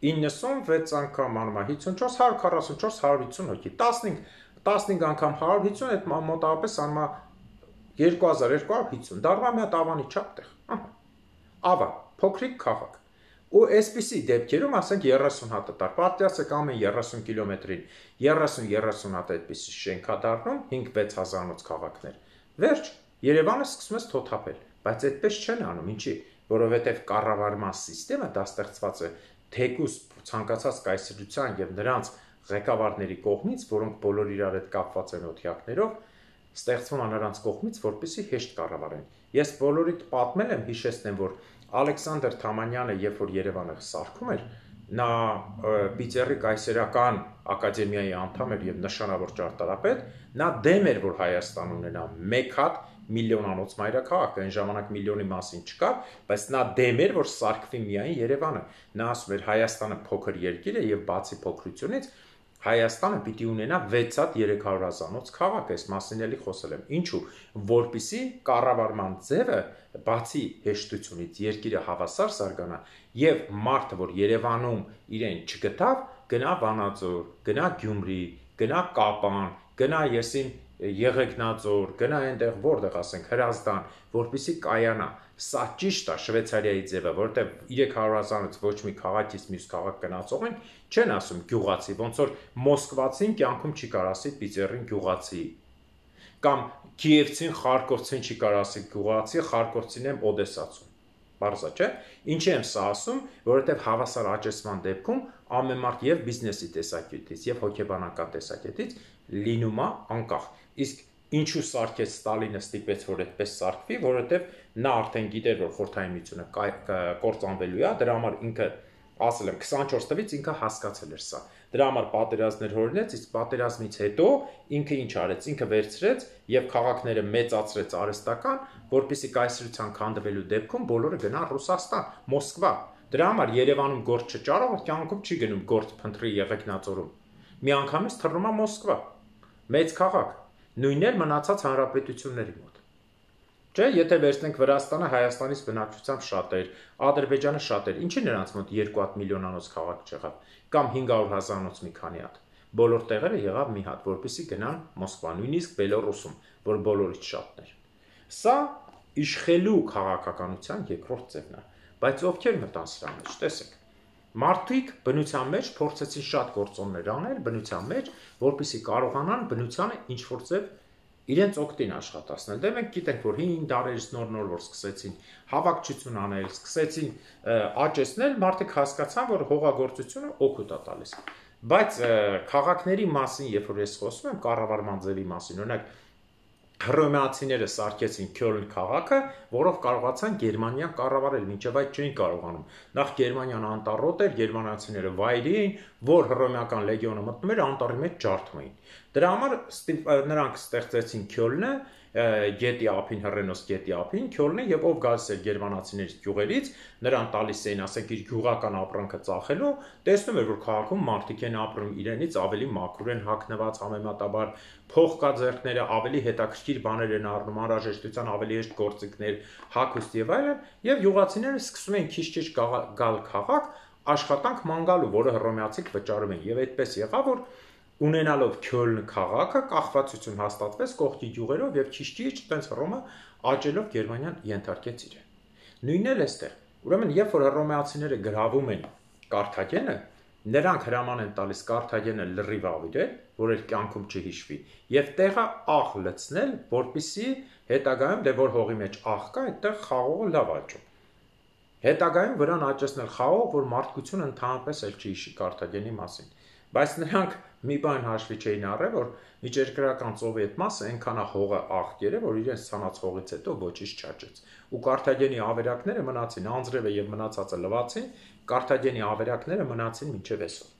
իննսունվեց անգամ անում է հիսունչորս, հարյուր քառասունչորս, հարյուր հիսուն հոգի։ տասնհինգ, տասնհինգ անգամ հարյուր հիսուն, այդ մոտավորապես անում է երկու հազար երկու հարյուր հիսուն։ Դառնա մի հատ ավանի չափ տեղ։ Ավա, փոքրիկ քաղաք։ Ու այսպիսի դեպքերում ասենք երեսուն հատը տար, պատկերացրեք ամեն երեսուն կիլոմետրին երեսուն երեսուն հատ այդպիսի շենք է դառնում հինգ-վեց հազարանոց քաղաքներ։ Վերջ, Երևանը սկսում է թոթափել, բայց այդպես չեն անում, ինչի, որովհետև կառավարման համակարգը դա ստեղծված է թեկուզ ցանկացած կայսրության եւ նրանց ղեկավարների կողմից, որոնք բոլոր իրար հետ կապված են օթյակներով, ստեղծվում է նրանց կողմից, որպեսզի հեշտ կառավարեն։ Ես բոլորիդ պատմել եմ, հիշեցնեմ, որ Ալեքսանդր Թամանյանը, երբ որ Երևանը սարքում էր, նա Պիտերի կայսերական ակադեմիայի անդամ էր եւ նշանավոր ճարտարապետ, նա դեմ էր, որ Հայաստան ունենա մեկ հատ միլիոնանոց մայրաքաղաք, այն ժամանակ միլիոնի մասին չկար, բայց նա դեմ էր, որ սարքվի միայն Երևանը։ Նա ասում էր Հայաստանը փոքր երկիր է եւ բացի փոքրությունից Հայաստանը պիտի ունենա վեց հատ երեք հարյուր հազանոց քաղաք, այս մասին էլի խոսել եմ։ Ինչու, որպիսի կառավարման ձևը բացի հեշտությունից երկիրը հավասար զարգանա եւ մարդը, որ Երևանում իրեն չգտավ, գնա Վանաձոր, գնա Գյումրի, գնա Կապան, գնա եսին Եղեգնաձոր, գնա այնտեղ որտեղ ասենք Հրազդան, որպիսի կայանա։ Սա ճիշտ է Շվեյցարիայի ձևը, որովհետև երեք հարյուր հազարից ոչ մի քաղաքից մյուս քաղաք գնացողին չեն ասում գյուղացի, ոնց որ մոսկվացին կյանքում չի կարող ասի Պիտերին գյուղացի, կամ Կիևցին Խարկովցին չի կարող ասի գյուղացի, Խարկովցին եմ օդեսացու։ Բարձա չէ։ Ինչի եմ սա ասում, որովհետև հավասար աճեցման դեպքում ամեն մարդ եւ բիզնեսի տեսակետից եւ հոգեբանական տեսակետից լինում է անկախ։ Իսկ ինչու սարքեց Ստալինը ստիպեց, որ այդպես սարքվի, որովհետև նա արդեն գիտեր, որ Խորհրդային Միությունը կործանվելու է, դրա համար ինքը ասել եմ քսանչորս թվականից ինքը հասկացել էր սա։ Դրա համար պատերազմներ հորինեց, իսկ պատերազմից հետո ինքը ինչ արեց, ինքը վերցրեց եւ քաղաքները մեծացրեց արհեստական, որպեսզի կայսրության քանդվելու դեպքում բոլորը գնան Ռուսաստան, Մոսկվա։ Դրա համար Երևանում գործ չճարողը կյանքում չի գնում գործ փնտրի Եղեգնաձորում։ Միանգամից թռնում է Մոսկվա։ Մեծ քաղաք, նույնն էլ մնացած հանրապետությունների մոտ։ Չէ, եթե վերցնենք Վրաստանը, Հայաստանից բնակչությամբ շատ էր, Ադրբեջանը շատ էր, ինչի նրանց մոտ երկու հատ միլիոնանոց քաղաք չեղավ, կամ հինգ հարյուր հազարանոց մի քանի հատ։ Բոլոր տեղերը եղավ մի հատ, որպեսզի գնան Մոսկվա, նույնիսկ Բելոռուսում, որ բոլորից շատն էր։ Սա իշխելու քաղաքականության երկրորդ ձևն է, բայց ովքեր մտան սրա մեջ, տեսեք։ Մարդիկ բնության մեջ փորձեցին շատ գործոններ անել բնության մեջ, որպեսզի կարողանան բնությանը ինչ որ ձև իրենց օգտին աշխատացնել։ Դե մենք գիտենք, որ հին դարերից նոր-նոր որ սկսեցին հավաքչություն անել, սկսեցին աճեցնել, մարդիկ հասկացան, որ հողագործությունը օգուտ է տալիս։ Բայց քաղաքների մասին, երբ որ ես խոսում եմ, կառավարման ձևի մասին, օրինակ հռոմեացիները սարքեցին Քյոլն քաղաքը, որով կարողացան Գերմանիան կառավարել, մինչև այդ չէին կարողանում։ Նախ Գերմանիան անտառոտ էր, գերմանացիները վայրի էին, որ հռոմեական լեգիոնը մտնում էր, անտառի մեջ ջարդում էին։ Դրա համար նրանք ստեղծեցին Քյոլնը, գետի ափին, հռենոս գետի ափին, Քյոլնը, եւ ով գալիս էր գերմանացիների գյուղերից, նրան տալիս էին, ասենք, իր գյուղական ապրանքը ծախելու, տեսնում էր, որ քաղաքում մարդիկ են ապրում, իրենից ավելի մաքուր են հագնված, համեմատաբար փող կա ձեռքները, ավելի հետաքրքիր բաներ են առնում, անհրաժեշտության ավելի հեշտ գործիքներ, հագուստ եւ այլն, եւ գյուղացիները սկսում են քիչ-քիչ գալ քաղաք, աշխատանք ման գալու, որը հռոմեացիք վճարում են, եւ այդպես եղավ, որ ունենալով Քյոլն քաղաքը կախվածություն հաստատվեց կողքի գյուղերով եւ քիչ-քիչ այդպես Հռոմը աճելով Գերմանիան ենթարկեց իրեն։ Նույնն էլ էստեղ։ Ուրեմն երբ որ հռոմեացիները գրավում են Կարթագենը, նրանք հրաման են տալիս Կարթագենը լրիվ ավիրել, որ էլ կյանքում չհիշվի, եւ տեղը աղ լցնել, որպիսի հետագայում դե որ հողի մեջ աղ կա, այդտեղ խաղողը լավ աճում։ Հետագայում վրան աճեցնել խաղող, որ մարդկությունը ընդհանրապես էլ չի հիշի Կարթագենի մասին։ Բայց նրանք մի բան հաշվի չէին առել, որ միջերկրական ծովի այդ մասը այնքան է հողը աղտեր է, որ իրենց ցանած հողից հետո ոչինչ չաճեց։ Ու Կարթագենի ավերակները մնացին, Անձրևը եւ մնացածը լվացին, Կարթագենի ավերակները մնացին մինչև այսօր։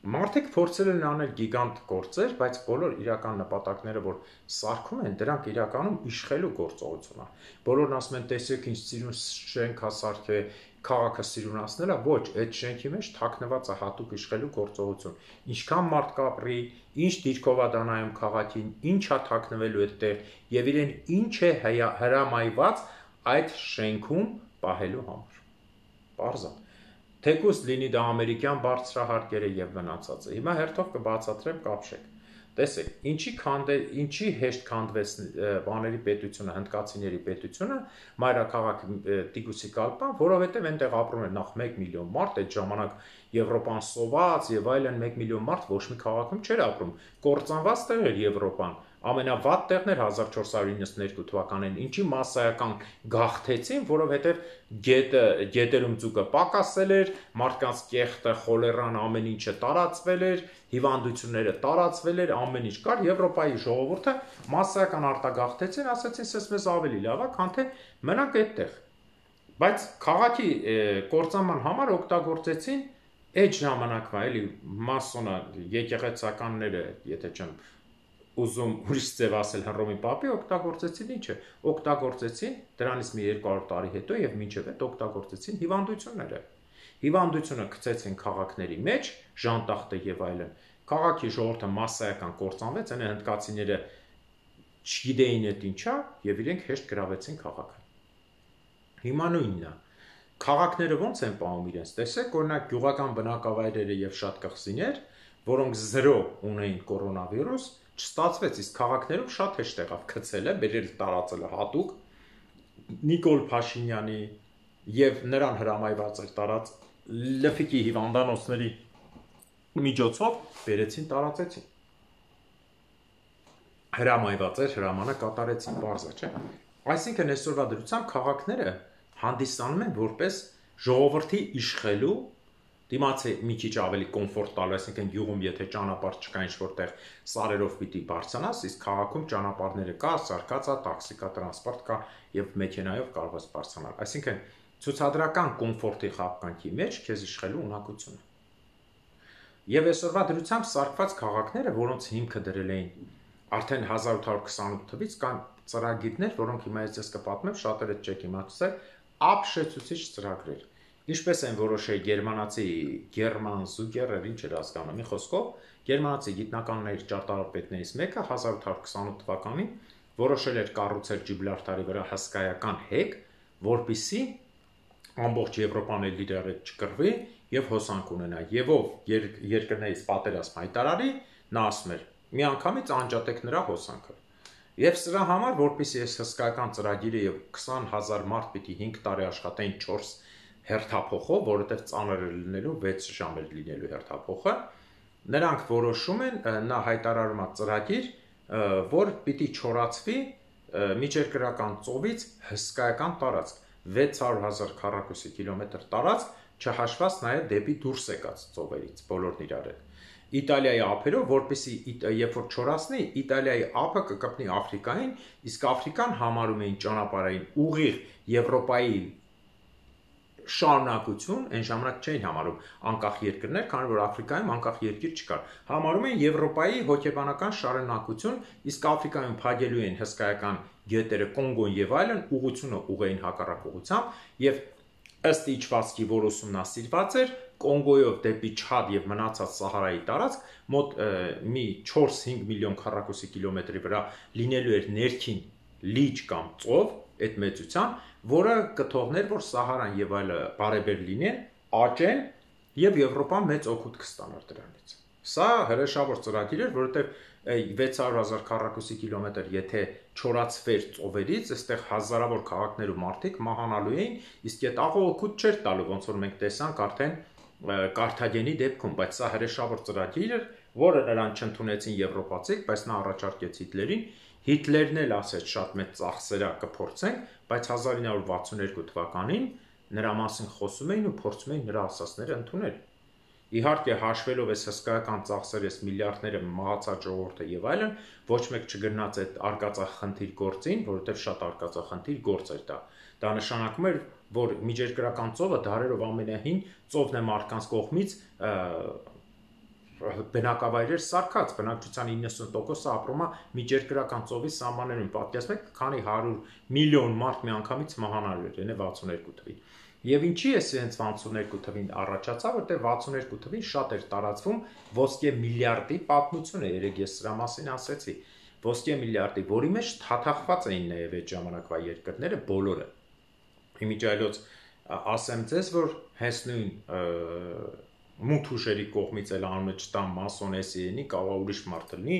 Մարդիկ փորձել են անել գիգանտ գործեր, բայց բոլոր իրական նպատակները, որ սարքում են, դրանք իրականում իշխելու գործողություն է։ Բոլորն ասում են, տեսեք ինչ սիրուն շենք է սարքել, քաղաքը սիրունացնելա, ոչ, այդ շենքի մեջ թաքնված է հատուկ իշխելու գործողություն։ Ինչքան մարդ կապրի, ինչ դիրքով է դանայում քաղաքին, ինչ է թաքնվելու այդտեղ եւ իրեն ինչ է հրամայված այդ շենքում պահելու համար։ Պարզ է։ Թեկուզ լինի դա ամերիկյան բարձրահարկերը եւ մնացածը։ Հիմա հերթով կբացատրեմ, կապշեք։ Տեսեք, ինչի քանդե, ինչի հեշտ քանդվեց բաների պետությունը, հնդկացիների պետությունը, մայրաքաղաք Տիգուսիկալպան, որովհետեւ այնտեղ ապրում էր նախ մեկ միլիոն մարդ, այդ ժամանակ Եվրոպան սոված եւ այլն մեկ միլիոն մարդ ոչ մի քաղաքում չէր ապրում։ Կործանված տեղ էր Եվրոպան։ Ամենավատ տեղն էր հազար չորս հարյուր իննսունեքու թվականին, ինչի massայական գաղթեցին, որովհետև գետը գետերում ձուկը պակասել էր, մարդկանց կեղտը, խոլերան, ամեն ինչը տարածվել էր, հիվանդությունները տարածվել էր, ամեն ինչ կար, Եվրոպայի ժողովուրդը massայական արտագաղթեցին, ասացին, սես մեզ ավելի լավ է, քան թե մնանք այդտեղ։ Բայց քաղաքի կործանման համար օգտագործեցին այդ ժամանակվա էլի մասոնա եկեղեցականները, եթե չեմ ուզում ուրիշ ձև ասել Հռոմի Պապի, օգտագործեցին ինչը, օգտագործեցին դրանից մի երկու հարյուր տարի հետո եւ մինչեւ այդ օգտագործեցին հիվանդությունները։ Հիվանդությունը գցեցին քաղաքների մեջ, ժանտախտը եւ այլն։ Քաղաքի ժողովուրդը massայական կործանվեց, այնը հնդկացիները չգիտեին այդ ինչա եւ իրենք հեշտ գրավեցին քաղաքը։ Հիմա նույնն է։ Քաղաքները ոնց են պահում իրենց։ Տեսեք, օրինակ գյուղական բնակավայրերը եւ շատ կղզիներ, որոնք զրո ունեին կորոնավիրուս, չստացվեց, իսկ քաղաքներում շատ հեշտ եղավ գցելը, բերել տարածելը հատուկ Նիկոլ Փաշինյանի եւ նրան հրամայված էր տարած լֆիկի հիվանդանոցների միջոցով բերեցին տարածեցին։ Հրամայված էր, հրամանը կատարեցին, բարձ է, չէ՞։ Այսինքն այսօրվա դրությամբ քաղաքները հանդիսանում են որպես ժողովրդի իշխելու դիմացի մի քիչ ավելի կոմֆորտ տալու, այսինքն գյուղում եթե ճանապարհ չկա ինչ որտեղ սարերով պիտի բարձրանաս, իսկ քաղաքում ճանապարհները կա, սարքած է, տաքսի կա, տրանսպորտ կա եւ մեքենայով կարող ես բարձրանալ։ Այսինքն ցուցադրական կոմֆորտի խապկանքի մեջ քեզ իշխելու ունակությունը։ Եվ այսօրվա դրությամբ սարքված քաղաքները, որոնց հիմքը դրել էին արդեն հազար ութ հարյուր քսանութ թվականից կան ծրագիրներ, որոնք հիմա ես ձեզ կպատմեմ, շատերը չեք իմացել, ապշեցուցիչ ծրագրեր։ Ինչպես են որոշել գերմանացի Գերման Զուկերեր, ինչ էր հասկանում, մի խոսքով, գերմանացի գիտնականների ճարտարապետներից մեկը հազար ութ հարյուր քսանութ թվականին որոշել էր կառուցել Ջիբրալթարի վրա հսկայական հեկ, որպիսի ամբողջ Եվրոպան էլ իր հետ չկռվի եւ հոսանք ունենա։ Եվ ով երկրներից պատերազմ հայտարարի, նա ասում էր. մի անգամից անջատեք նրա հոսանքը։ Եվ սրա համար, որպեսզի այս հսկայական ծրագիրը եւ քսան հազար մարդ պիտի հինգ տարի աշխատեն չորս հերթափոխով, որովհետեւ ծանր է լինելու վեց ժամ էր լինելու հերթափոխը, նրանք որոշում են, նա հայտարարում է ծրագիր, որ պիտի չորացվի միջերկրական ծովից հսկայական տարածք, վեց հարյուր հազար քառակուսի կիլոմետր տարածք, չհաշված նաեւ դեպի դուրս եկած ծովերից, բոլորն իրար հետ։ Իտալիայի ափերով, որպեսզի երբ որ չորացնի, Իտալիայի ափը կկպնի Աֆրիկային, իսկ Աֆրիկան համարում էին ճանապարհային ուղիղ Եվրոպայի շարունակություն, այն ժամանակ չէին համարում անկախ երկրներ, քանի որ Աֆրիկայում անկախ երկիր չկար։ Համարում են Եվրոպայի հոգեբանական շարունակություն, իսկ Աֆրիկայում փակելու են հսկայական գետերը Կոնգոն եւ այլն, ուղղությունը ուղեին հակառակ ուղղությամբ եւ ըստ իջվածքի, որ ուսումնասիրված էր, Կոնգոյով դեպի Չադ եւ մնացած Սահարայի տարածք մոտ մի չորս հինգ միլիոն քառակուսի կիլոմետրի վրա լինելու էր ներքին լիճ կամ ծով, այդ մեծության, որը կթողներ, որ Սահարան եւ այլը բարեբեր լինեն, աճեն եւ Եվրոպան մեծ օգուտ կստանար դրանից։ Սա հրեշավոր ծրագիր էր, որովհետեւ վեց հարյուր հազար քառակուսի կիլոմետր եթե չորացվեր ծովերից, այստեղ հազարավոր քաղաքներ ու մարդիկ մահանալու էին, իսկ այդ աղը օգուտ չէր տալու, ոնց որ մենք տեսանք արդեն Կարթագենի դեպքում, բայց սա հրեշավոր ծրագիր էր, որը նրան չընդունեցին եվրոպացիք, բայց նա առաջարկեց Հիտլերին, Հիտլերն էլ ասեց շատ մեծ ծախսերա կփորձենք, բայց հազար ինը հարյուր վաթսուն երկու թվականին նրա մասին խոսում էին ու փորձում էին նրա ասածները ընդունել։ Իհարկե հաշվելով այս հսկայական ծախսեր, այս միլիարդները մահացած ժողովուրդը եւ այլն, ոչ մեկ չգնաց այդ արկածախնդիր գործին, որովհետեւ շատ արկածախնդիր գործ էր դա։ Դա նշանակում էր, որ միջերկրական ծովը դարերով ամենահին ծովն է մարդկանց կողմից բնակավայրեր սարքած, բնակչության իննսուն տոկոսը ապրում է միջերկրական ծովի սահմաններում, պատկերացնեք, քանի հարյուր միլիոն մարդ միանգամից մահանալու էր, այնե վաթսուներկու թվին։ Եվ ինչի է հենց վաթսուներկու թվին առաջացավ, որտեղ վաթսուներկու թվին շատ էր տարածվում ոսկե միլիարդի պատմությունը, երեք ես սրա մասին ասեցի, ոսկե միլիարդի, որի մեջ թաթախված էին նաև այդ ժամանակվա երկրները բոլորը։ Իմիջիայլոց ասեմ ձեզ, որ հենց նույն մութ ուժերի կողմից էլ անունը չտամ մասոնեսի ենի, կարող է ուրիշ մարդ լինի,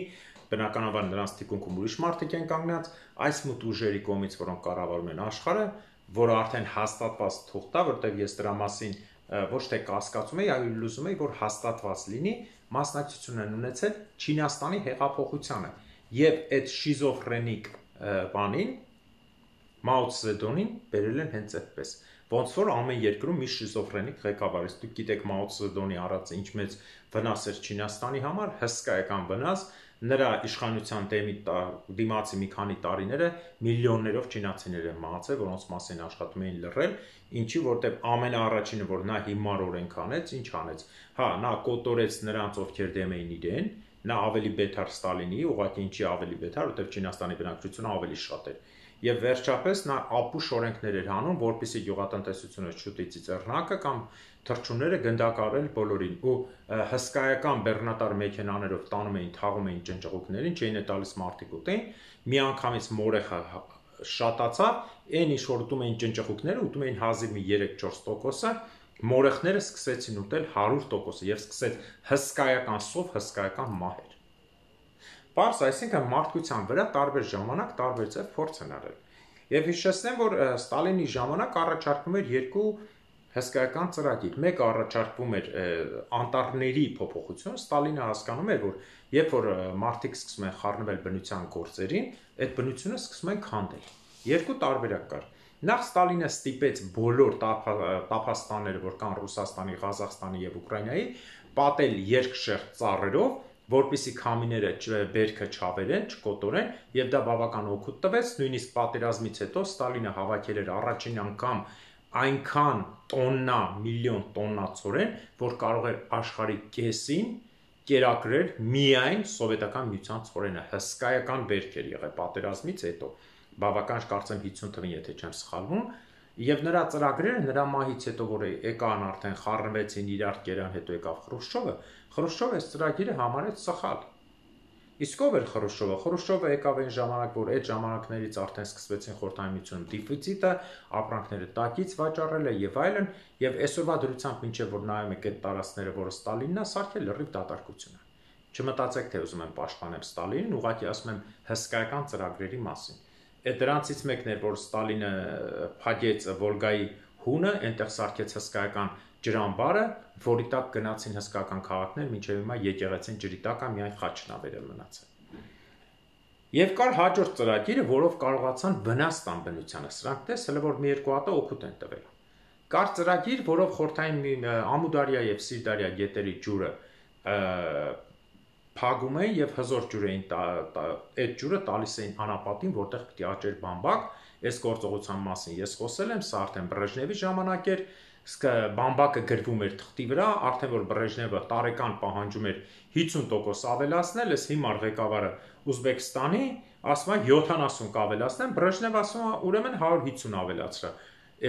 բնականաբար նրանց թիկունքում ուրիշ մարդիկ են կանգնած, այս մութ ուժերի կողմից, որոնք կառավարում են աշխարհը, որը արդեն հաստատված թող տա, որտեղ ես դրա մասին ոչ թե կասկածում եի, այլ ուզում եի, որ հաստատված լինի, մասնակցություն են ունեցել Չինաստանի հեղափոխությանը եւ այդ շիզոֆրենիկ բանին Մաո Ցզեդոնին բերել են հենց այդպես։ Ոնց որ ամեն երկրում մի շիզոֆրենիկ ղեկավար է։ Դուք գիտեք Մաո Ցզեդոնի առած ինչ մեծ վնաս էր Չինաստանի համար, հսկայական վնաս, նրա իշխանության դեմի դիմացի մի քանի տարիները միլիոններով չինացիներ են մահացել, որոնց մասին աշխատում էին լռել, ինչի որտեղ ամենաառաջինը, որ նա հիմար օրենք անեց, ինչ անեց։ Հա, նա կոտորեց նրանց, ովքեր դեմ էին իրեն, նա ավելի բետար Ստալինի, ուղղակի ինչի ավելի բետար, որտեղ Չինաստանի բնակչությունը ավելի շատ էր։ Եվ վերջապես նա ապուշ օրենքներ էր հանում, որպեսզի գյուղատնտեսությունը չուտի ծիծեռնակը կամ թռչունները գնդակարել բոլորին ու հսկայական բեռնատար մեքենաներով տանում էին, թաղում էին ճնճղուկներին, չէին է տալիս մարդիկ ուտեն, միանգամից մորեխը շատացավ, այն ինչ որ ուտում էին ճնճղուկները, ուտում էին հազիվ մի երեք-չորս տոկոսը, մորեխները սկսեցին ուտել հարյուր տոկոսը եւ սկսեց հսկայական սով, հսկայական մահեր։ Պարզ, այսինքն մարդկության վրա տարբեր ժամանակ տարբեր ձև փորձ են արել։ Եվ հիշեցնեմ, որ Ստալինի ժամանակ առաջարկվում էր երկու հսկայական ծրագիր։ Մեկը առաջարկվում էր անտառների փոփոխություն, Ստալինը հասկանում էր, որ երբ որ մարդիկ սկսում են խառնվել բնության գործերին, այդ բնությունը սկսում են քանդել։ Երկու տարբերակ կար։ Նախ Ստալինը ստիպեց բոլոր տափաստանները, որ կան Ռուսաստանի, Ղազախստանի եւ Ուկրաինայի, պատել երկշերտ ծառերով, որպեսզի քամիները բերքը չավերեն, չկոտորեն, եւ դա բավական օգուտ տվեց, նույնիսկ պատերազմից հետո Ստալինը հավաքել էր առաջին անգամ այնքան տոննա, միլիոն տոննա ծորեն, որ կարող էր աշխարհի կեսին կերակրել միայն սովետական միության ծորենը, հսկայական բերք էր եղել պատերազմից հետո, բավական կարծեմ հիսուն թվին, եթե չեմ սխալվում, եւ նրա ծրագրերը նրա մահից հետո, որ եկան արդեն խառնվեցին իրար կերան, հետո եկավ Խրուշչովը, Խրուշչովը այս ծրագիրը համարեց սխալ։ Իսկ ով էր Խրուշչովը։ Խրուշչովը եկավ այն ժամանակ, որ այդ ժամանակներից արդեն սկսվեցին Խորհրդային Միությունում դեֆիցիտը, ապրանքները տակից վաճառելը եւ այլն, եւ այսօրվա դրությամբ մինչեւ որ նայում եք այդ տարածքները, որը Ստալինն է սարքել, լրիվ դատարկություն է։ Չմտածեք, թե ուզում եմ պաշտպանել Ստալինին, ուղղակի ասում եմ հսկայական ծրագրերի մասին։ Այդ դրանցից մեկն էր, որ Ստալինը փակեց Վոլգայի հունը, այնտեղ սարքեց հսկայական ջրամբարը, որի տակ գնացին հսկայական քաղաքներ, մինչև հիմա եկեղեցին ջրի տակ է միայն խաչնավերը մնացել։ Եվ կար հաջորդ ծրագիրը, որով կարողացան վնաս տան բնությանը, սրանք տեսել որ մի երկու հատ օգուտ են տվել։ Կար ծրագիր, որով խորհրդային Ամուդարիա եւ Սիրդարիա գետերի ջուրը փակում էին եւ հզոր ջուր էին այդ ջուրը տալիս էին անապատին, որտեղ պիտի աճեր բամբակ։ Այս գործողության մասին ես խոսել եմ, սա արդեն Բրեժնևի ժամանակ էր, բամբակը գրվում էր թղթի վրա, արդեն որ Բրեժնևը տարեկան պահանջում էր հիսուն տոկոս ավելացնել, այս հիմար ղեկավարը Ուզբեկստանի ասում է յոթանասուն կավելացնեմ, Բրեժնևը ասում է ուրեմն հարյուր հիսուն ավելացրա։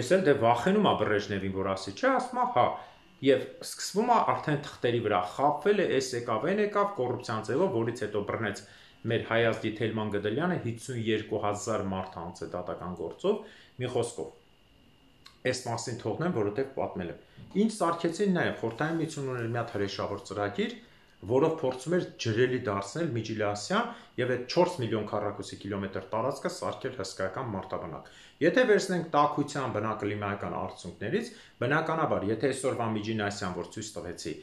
Այս էլ դե վախենում է Բրեժնևին, որ ասի, չէ, ասում է հա։ Եվ սկսվում է արդեն թղթերի վրա խաբվել է, այս եկավ, այն եկավ կոռուպցիան ձևով, որից հետո բռնեց մեր Հայազգի Թելման Գդելյանը հիսունյոթ հազար մարդ հանց է դատական գործով, մի խոսքով։ Այս մասին թողնեմ, որովհետև պատմել եմ։ Ինչ սարքեցին նաև Խորհրդային Միությունն ուներ մի հատ հրեշավոր ծրագիր, որով փորձում էր ջրելի դարձնել Միջիլասիան եւ այդ չորս միլիոն քառակուսի կիլոմետր տարածքը սարքել հսկայական մարտաբնակ։ Եթե վերցնենք տաքության բնակլիմայական արդյունքներից, բնականաբար, եթե այսօրվա Միջիլասիան, որ ցույց տվեցի,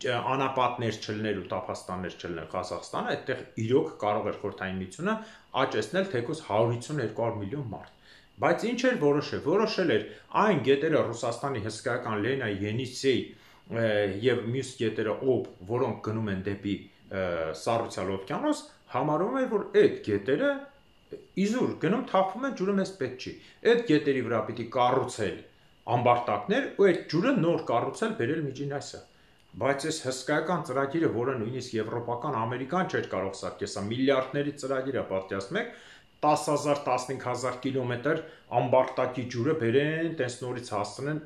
անապատներ չլներ ու տափաստաններ չլներ Ղազախստանը, այդտեղ իրոք կարող էր Խորհրդային Միությունը աճեցնել թեկուզ հարյուր հիսուն երկու հարյուր միլիոն մարդ։ Բայց ինչ էր որոշել, որոշել էր այն գետերը Ռուսաստանի հսկայական Լենայի, Ենիսեի եւ մյուս գետերը օբ, որոնք գնում են դեպի Սառուցյալ օվկիանոս, համարում են, որ այդ գետերը իզուր գնում թափվում են, ջուրը մեզ պետք չի։ Այդ գետերի վրա պիտի կառուցել ամբարտակներ ու այդ ջուրը նոր կառուցել բերել միջին այսը։ Բայց այս հսկայական ծրագիրը, որը նույնիսկ եվրոպական, ամերիկան չէր կարող սարքել, սա միլիարդների ծրագիր է, պատկերացնում եք, տասը հազար տասնհինգ հազար կիլոմետր ամբարտակի ջուրը բերեն, տես նորից հասցնեն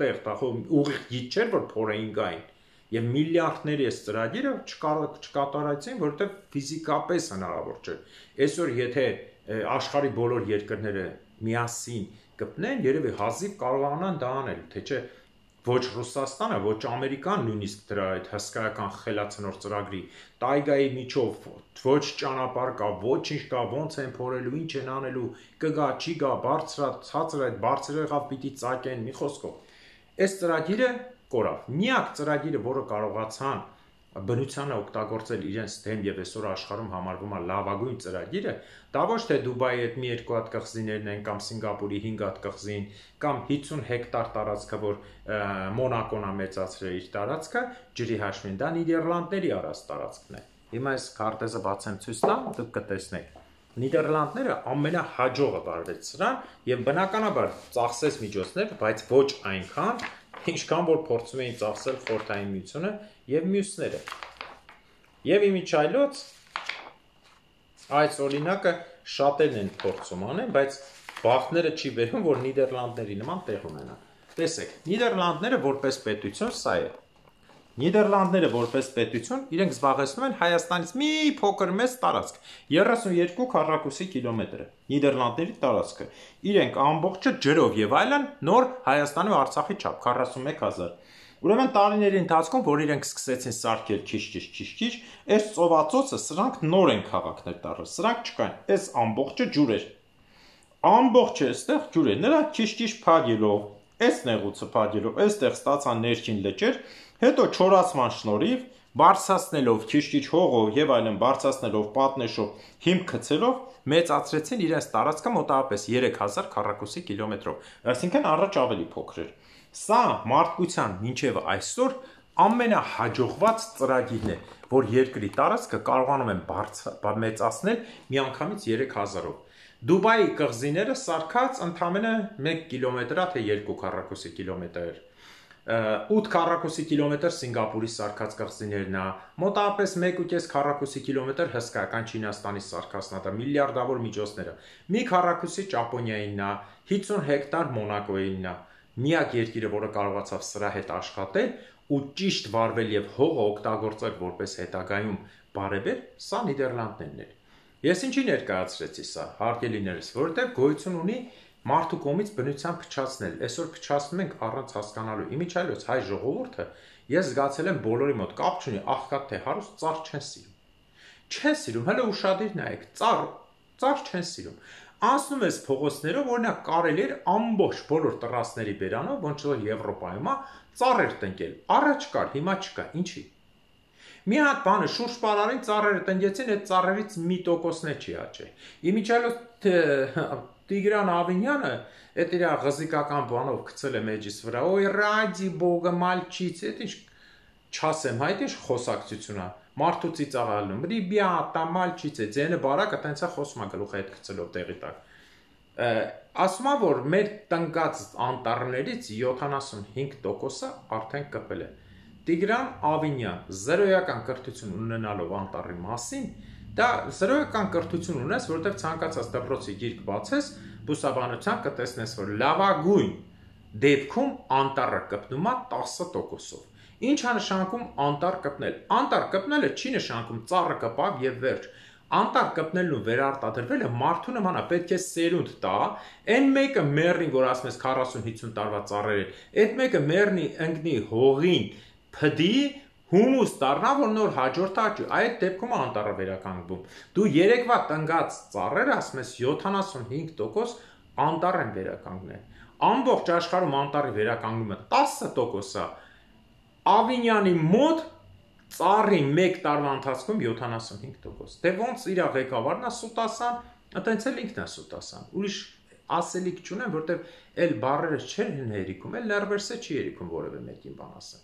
տեղ, ուղիղ գիծ չէր, որ փորեին գային։ Եվ միլիարդների այս ծրագիրը չկատարեցին, որովհետև ֆիզիկապես հնարավոր չէ։ Այսօր եթե աշխարհի բոլոր երկրները միասին կպնեն, երևի հազիվ կարողանան դա անել, թե չէ ոչ Ռուսաստանը, ոչ Ամերիկան նույնիսկ դրա այդ հսկայական խելացնոր ծրագրի տայգայի միջով ոչ ճանապարհ կա, ոչինչ կա, ոնց են փորելու, ինչ են անելու, կգա, չի գա, բարձրա, ցածր այդ բարձր եղավ պիտի ծակեն, մի խոսքով։ Այս ծրագիրը կորավ։ Միակ ծրագիրը, որը կարողացան բնությանը օգտագործել իրենց դեմ եւ այսօր աշխարհում համարվում է լավագույն ծրագիրը, դա ոչ թե Դուբայի այդ մի երկու հատ կղզիներն են կամ Սինգապուրի հինգ հատ կղզին կամ հիսուն հեկտար տարածքը, որ Մոնակոն է մեծացրել իր տարածքը, ջրի հաշվին, դա Նիդերլանդների առած տարածքն է։ Հիմա այս քարտեզը բացեմ ցույց տամ, դուք կտեսնեք։ Նիդերլանդները ամենահաջողը վարվեց սրան եւ բնականաբար ծախսեց միջոցներ, բայց ոչ այնքան, ինչքան որ փորձում էին ծախսել Խորհրդային Միությունը եւ մյուսները։ Եվ իմիջայլոց այս օրինակը շատերն են փորձում անեն, բայց բախտները չի վերում, որ Նիդերլանդների նման տեղ ունենա։ Տեսեք, Նիդերլանդները որպես պետություն սա է։ Նիդերլանդները որպես պետություն իրենք զբաղեցնում են Հայաստանից մի փոքր մեծ տարածք, երեսունյոթ քառակուսի կիլոմետր Նիդերլանդների տարածքը։ Իրենք ամբողջը ջրով եւ այլն նոր Հայաստանի ու Արցախի չափ քառասունմեկ հազար։ Ուրեմն տարիների ընթացքում, որ իրենք սկսեցին սարքել քիչ-քիչ քիչ-քիչ, այս ծովացոցը սրանք նոր են քաղաքներ դառել։ Սրանք չկային, այս ամբողջը ջուր էր։ Ամբողջը այստեղ ջուր է, նրա քիչ-քիչ փագելով, այս նեղուցը փագելով, այստեղ ստացան ներքին լճեր, հետո չորացման շնորհիվ բարձրացնելով քիչ-քիչ հողով եւ այլն բարձրացնելով պատնեշով, հիմք գցելով մեծացրեցին իրենց տարածքը մոտավորապես երեք հազար քառակուսի կիլոմետրով, այսինքն առաջ ավելի փոքր էր։ Սա մարդկության մինչև այսօր ամենահաջողված ծրագիրն է, որ երկրի տարածքը կարողանում են մեծացնել միանգամից երեք հազարով։ Դուբայի կղզիները սարքած ընդամենը մեկ կիլոմետր է, թե երկու քառակուսի կիլոմետր։ ութ քառակուսի կիլոմետր Սինգապուրի սարքած կղզիներն է, մոտավորապես մեկ ու կես քառակուսի կիլոմետր հսկայական Չինաստանի սարքածն է, միլիարդավոր միջոցները։ Մի քառակուսի Ճապոնիայինն է, հիսուն հեկտար Մոնակոյինն է։ Միակ երկիրը, որը կարողացավ սրա հետ աշխատել ու ճիշտ վարվել եւ հողը օգտագործել որպես հետագայում բարեբեր, սա Նիդերլանդներն էր։ Ես ինչի ներկայացրեցի սա, հարգելիներս, որովհետեւ գոյություն ունի մարդու կողմից բնության փչացնել։ Այսօր փչացնում ենք առանց հասկանալու։ Իմիջայլոց հայ ժողովուրդը ես զգացել եմ բոլորի մոտ կապ չունի, աղքատ թե հարուստ, ծառ չեն սիրում։ Չեն սիրում, հələ ուշադիր նայեք, ծառ, ծառ չեն սիրում։ Անցնում ես փողոցներով, օրինակ կարելի էր ամբողջ բոլոր տռասների բերանով, ոնց որ Եվրոպայում է, ծառեր տնկել։ Առաջ կար, հիմա չկա, ինչի։ Մի հատ բանը շուրջ պարարին ծառերը տնկեցին, այդ ծառերից մի տոկոսն է չի աճել։ Իմիջիայլոց Տիգրան Ավինյանը այդ իր ղզիկական բանով գցել է մեջից վրա, օй ռադի բոգը մալչից, այդ ինչ չասեմ, հայտ ինչ խոսակցություն է։ Մարդու ծիծաղալնում, «Ռիբյատա, մալչիցե», ձենը բարակը տենց է խոսում է գլուխի հետ գցելով տեղի տակ։ Ասում է, որ մեր տնկած անտառներից յոթանասունհինգ տոկոսը արդեն կպել է։ Տիգրան Ավինյան զրոյական կրթություն ունենալով անտառի մասին, դա զրոյական կրթություն ունես, որովհետև ցանկացած դպրոցի գիրք բացես, բուսաբանության կտեսնես, որ լավագույն դեպքում անտառը կպնում է տասը տոկոսով։ Ինչ է նշանակում անտառ կպնել։ Անտառ կպնելը չի նշանակում ծառը կպավ եւ վերջ։ Անտառ կպնելն ու վերարտադրվելը մարդու նման է, պետք է սերունդ տա, այն մեկը մեռնի, որ ասում ես քառասուն հիսուն տարվա ծառեր են, այդ մեկը մեռնի, ընկնի հողին, փդի, հումուս դառնա, որ նոր հաջորդ աճի, այդ դեպքում անտառը վերականգնվում։ Դու երեկվա տնգած ծառերը, ասում ես յոթանասունհինգ տոկոս անտառ են վերականգնել։ Ամբողջ աշխարհում անտառի վերականգնումը տասը տոկոս է։ Ավինյանի մոտ ծառի մեկ տարվա ընթացքում յոթանասունհինգ տոկոս։ Դե ոնց իր ղեկավարն է սուտասան, այտենց էլ ինքն է սուտասան։ Ուրիշ ասելիք չունեմ, որտեվ էլ բառերը չեն հերիքում, էլ ներվերսը չի հերիքում որևէ մեկին բան ասել։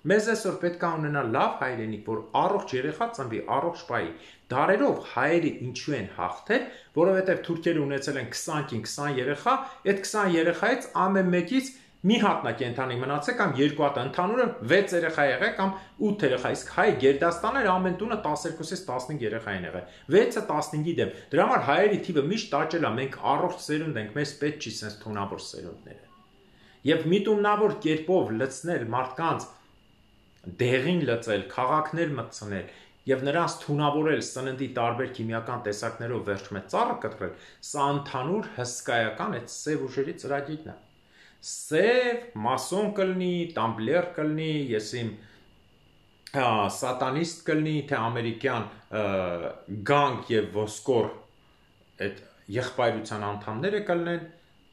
Մեզ այսօր պետք է ունենալ լավ հայրենիք, որ առողջ երեխա ծնվի, առողջ պայի։ Դարերով հայերը ինչու են հաղթել, որովհետև թուրքերը ունեցել են քսանքին քսան երեխա, այդ քսան երեխայից ամեն մեկից մի հատնա կենթանի մնացել կամ երկու հատ, ընդհանուրը վեց երեխա եղել կամ ութ երեխա, իսկ հայ Գերդաստանը ամեն տունը տասներկուսից տասնհինգ երեխա են եղել, վեցը տասնհինգի դեմ։ Դրա համար հայերի թիվը միշտ աճել է, մենք առողջ սերունդ ենք, մեզ պետք չի sense թունավոր սերունդները։ Եվ միտումնավոր կերպով լցնել մարդկանց դեղին լծել, քաղաքներ մտցնել եւ նրանց թունավորել սննդի տարբեր քիմիական տեսակներով վերջում է ծառը կտրել, սա ընդհանուր հսկայական այդ սև ուժերի ծրագիրն է։ Սև մասոն կլինի, տամբլեր կլինի, ես իմ սատանիստ կլինի, թե ամերիկյան գանգ եւ ոսկոր այդ եղբայրության անդամները կլինեն,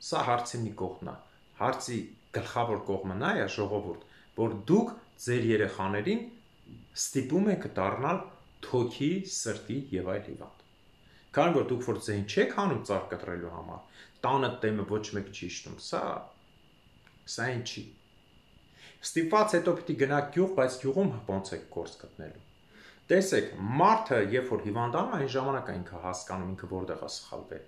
սա հարցի մի կողմն է։ Հարցի գլխավոր կողմը նա է, ժողովուրդ, որ դուք ձեր երեխաներին ստիպում եք դառնալ թոքի, սրտի եւ այլ հիվանդ։ Քանի որ դուք որ ձեն չեք հանում ծառ կտրելու համար, տանը տեմը ոչ մեկ չի իշտում, սա սա ինչի։ Ստիպված հետո պիտի գնաք գյուղ, բայց գյուղում ոնց եք գործ գտնելու։ Տեսեք, մարդը, երբ որ հիվանդանում է, այն ժամանակ է ինքը հասկանում ինքը որտեղ է սխալվել։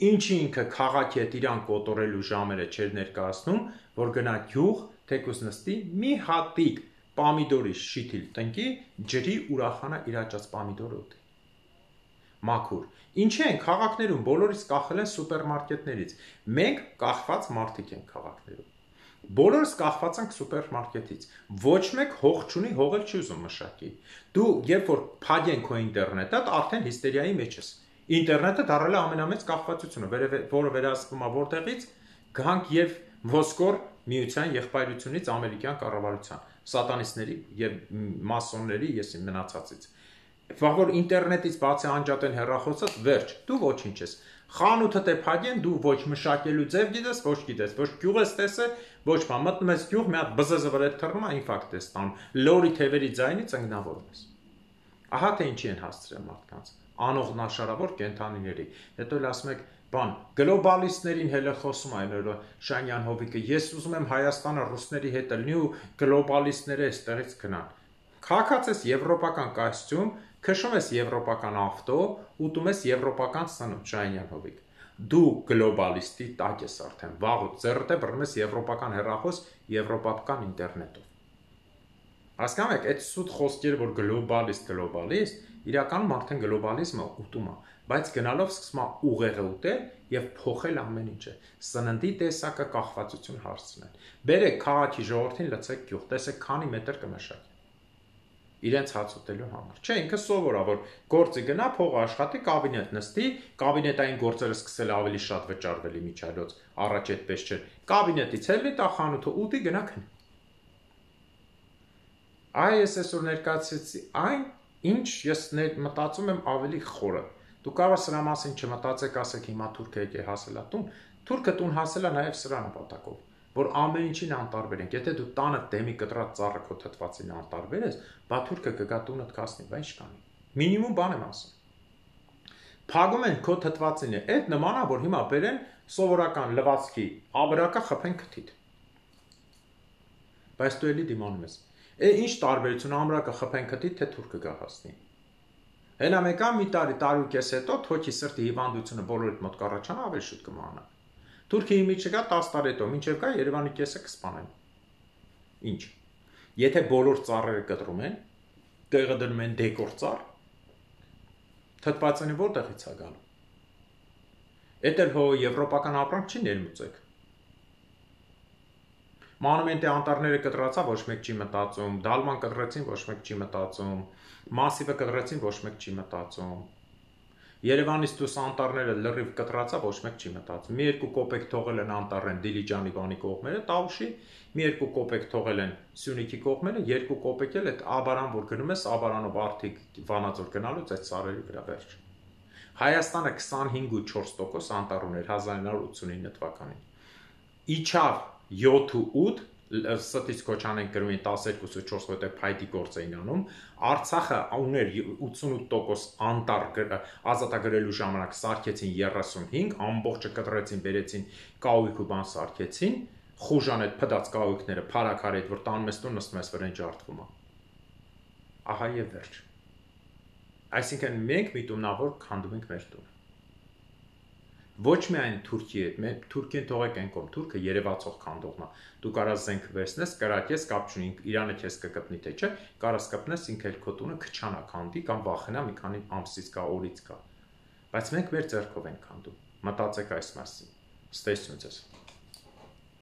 Ինչի ինքը քաղաքի հետ իրան կոտորելու ժամերը չէր ներկայացնում, որ գնա գյուղ, թեկուզ նստի, մի հատիկ պամիդորի շիթիլ տնկի, ջրի ուրախանա իր աճած պամիդորը ուտի։ Մաքուր։ Ինչի են քաղաքներում բոլորից կախել են սուպերմարկետներից։ Մենք կախված մարդիկ ենք քաղաքներում։ Բոլորս կախված ենք սուպերմարկետից։ Ոչ մեկ հող չունի, հողել չի ուզում մշակի։ Դու երբ որ փակեն քո ինտերնետը, արդեն հիստերիայի մեջ ես։ Ինտերնետը դառել է ամենամեծ կախվածությունը, որը վերահսկվում է որտեղից, գանք եւ ոսկոր միության եղբայրությունից ամերիկյան կառավարության, սատանիստների եւ մասոնների, ես իմ մնացածից։ Որ ինտերնետից բացի անջատեն հեռախոսը, վերջ, դու ոչինչ ես։ Խանութը դե փակեն, դու ոչ մշակելու ձև գիտես, ոչ գիտես, ոչ գյուղ ես տեսել, ոչ բան, մտնում ես գյուղ, մի հատ բզզը վրա թռնում է, ինֆարկտ ես ստանում, լորի թևերի ձայնից ընկնավորում ես։ Ահա թե ինչի են հասցրել մարդկանց, անողնաշարավոր կենդանիների։ Հետո էլ ասում եք, բան, գլոբալիստներին հելը խոսում այն օրը Շանյան Հովիկը, ես ուզում եմ Հայաստանը ռուսների հետ լինի ու գլոբալիստները այստեղից գնան։ Քաղաքած ես եվրոպական կոստյում, քշում ես եվրոպական ավտո, ուտում ես եվրոպական սնունդ, Շանյան Հովիկ։ Դու գլոբալիստի տակ ես արդեն, վաղուց ձեռդ է բռնում ես եվրոպական հեռախոս, եվրոպական ինտերնետով։ Հասկանում եք, այդ սուտ խոսքերը, որ գլոբալիստ, գլոբալիստ, իրականում արդեն գլոբալիզմը ուտում է, բայց գնալով սկսում է ուղեղը ուտել եւ փոխել ամեն ինչը։ Սննդի տեսակը կախվածություն հարցնել։ Բերեք քաղաքի ժողովրդին լցեք գյուղ, տեսեք քանի մետր կմշակի։ Իրենց հաց ուտելու համար։ Չէ, ինքը սովոր է, որ գործի գնա, փող աշխատի, կաբինետ նստի, կաբինետային գործերը սկսել ավելի շատ վճարվել իմիջիայլոց, առաջ այդպես չէր։ Կաբինետից ելնի, տա խանութը ուտի, գնա քնի։ Այ ես այսօր ներկայացրեցի այն, ինչ ես մտածում եմ ավելի խորը։ Դու կարող ես սրա մասին չմտածեք, ասեք հիմա թուրքը եկե հասել է տուն, թուրքը տուն հասել է նաև սրա նպատակով, որ ամեն ինչին անտարբեր ենք։ Եթե դու տանը դեմի կտրած ծառը քո թթվածին անտարբեր ես, բա թուրքը կգա տունդ կասնի, բա ինչ կանի։ Մինիմում բան եմ ասում։ Փագում են քո թթվածինը, այդ նման է, որ հիմա բերեն սովորական լվացքի աբրակա խփեն քթիդ։ Բայց դու էլի դիմանում ես։ Է ինչ տարբերություն ամրակը խփեն քթիդ, թե թուրքը գա հասնի։ Հենա մեկա մի տարի, տարի ու կես հետո թոքի սրտի հիվանդությունը բոլորիդ մոտ կառաջանա, ավելի շուտ կմահանա։ Թուրքի իմիջը գա տասը տարի հետո, մինչև գա Երևանի կեսը կսպանեն։ Ինչ։ Եթե բոլոր ծառերը կտրում են, տեղը դնում են դեկոր ծառ, թթվածինը որտեղից է գալու։ Էդ էլ հո եվրոպական ապրանք չի ներմուծեք։ Մանումենտի անտառները կտրացա, ոչ մեկ չի մտածում, դալման կտրեցին, ոչ մեկ չի մտածում, մասիվը կտրեցին, ոչ մեկ չի մտածում։ Երևանից դուրս անտառները լրիվ կտրացա, ոչ մեկ չի մտածում։ Մի երկու կոպեկ թողել են անտառեն Դիլիջանի բանի կողմերը, Տավուշի, մի երկու կոպեկ թողել են Սյունիքի կողմերը, երկու կոպեկ էլ այդ Աբարան, որ գնում ես, Աբարանով արդիկ Վանաձոր գնալուց այդ սարերի վրա վերջ։ Հայաստանը քսանհինգ ու չորս տոկոս անտառ ուներ հազար ինը հարյուր ութսունինը թվականին։ Իջավ յոթ ու ութ, ստից կոչանենք գրում էին տասներկու ու չորս, որտեղ փայտի գործ էին անում, Արցախը ուներ ութսունութ տոկոս անտառ ազատագրելու ժամանակ սարքեցին երեսունհինգ, ամբողջը կտրեցին, բերեցին կաուիկ ու բան սարքեցին, խուժան այդ փդած կահույքները, փարակարի հետ, որ տանում ես տուն, նստում ես վրան ջարդվում է։ Ահա եւ վերջ։ Այսինքն մենք միտումնավոր քանդում ենք մեր տունը։ Ոչ միայն Թուրքիի հետ, մենք Թուրքիան թողեք այն կողմ, Թուրքը երևացող քանդողն է։ Դու կարաս զենք վերցնես, կրակես, կապ չունի, Իրանը քեզ կկպնի թե չէ, կարաս կպնես ինքը էլ քո տունը քչանա քանդի կամ վախենա մի քանի ամսից կա, օրից կա։ Բայց մենք մեր ձեռքով ենք քանդում։ Մտածեք այս մասին։ Ստեսություն ձեզ։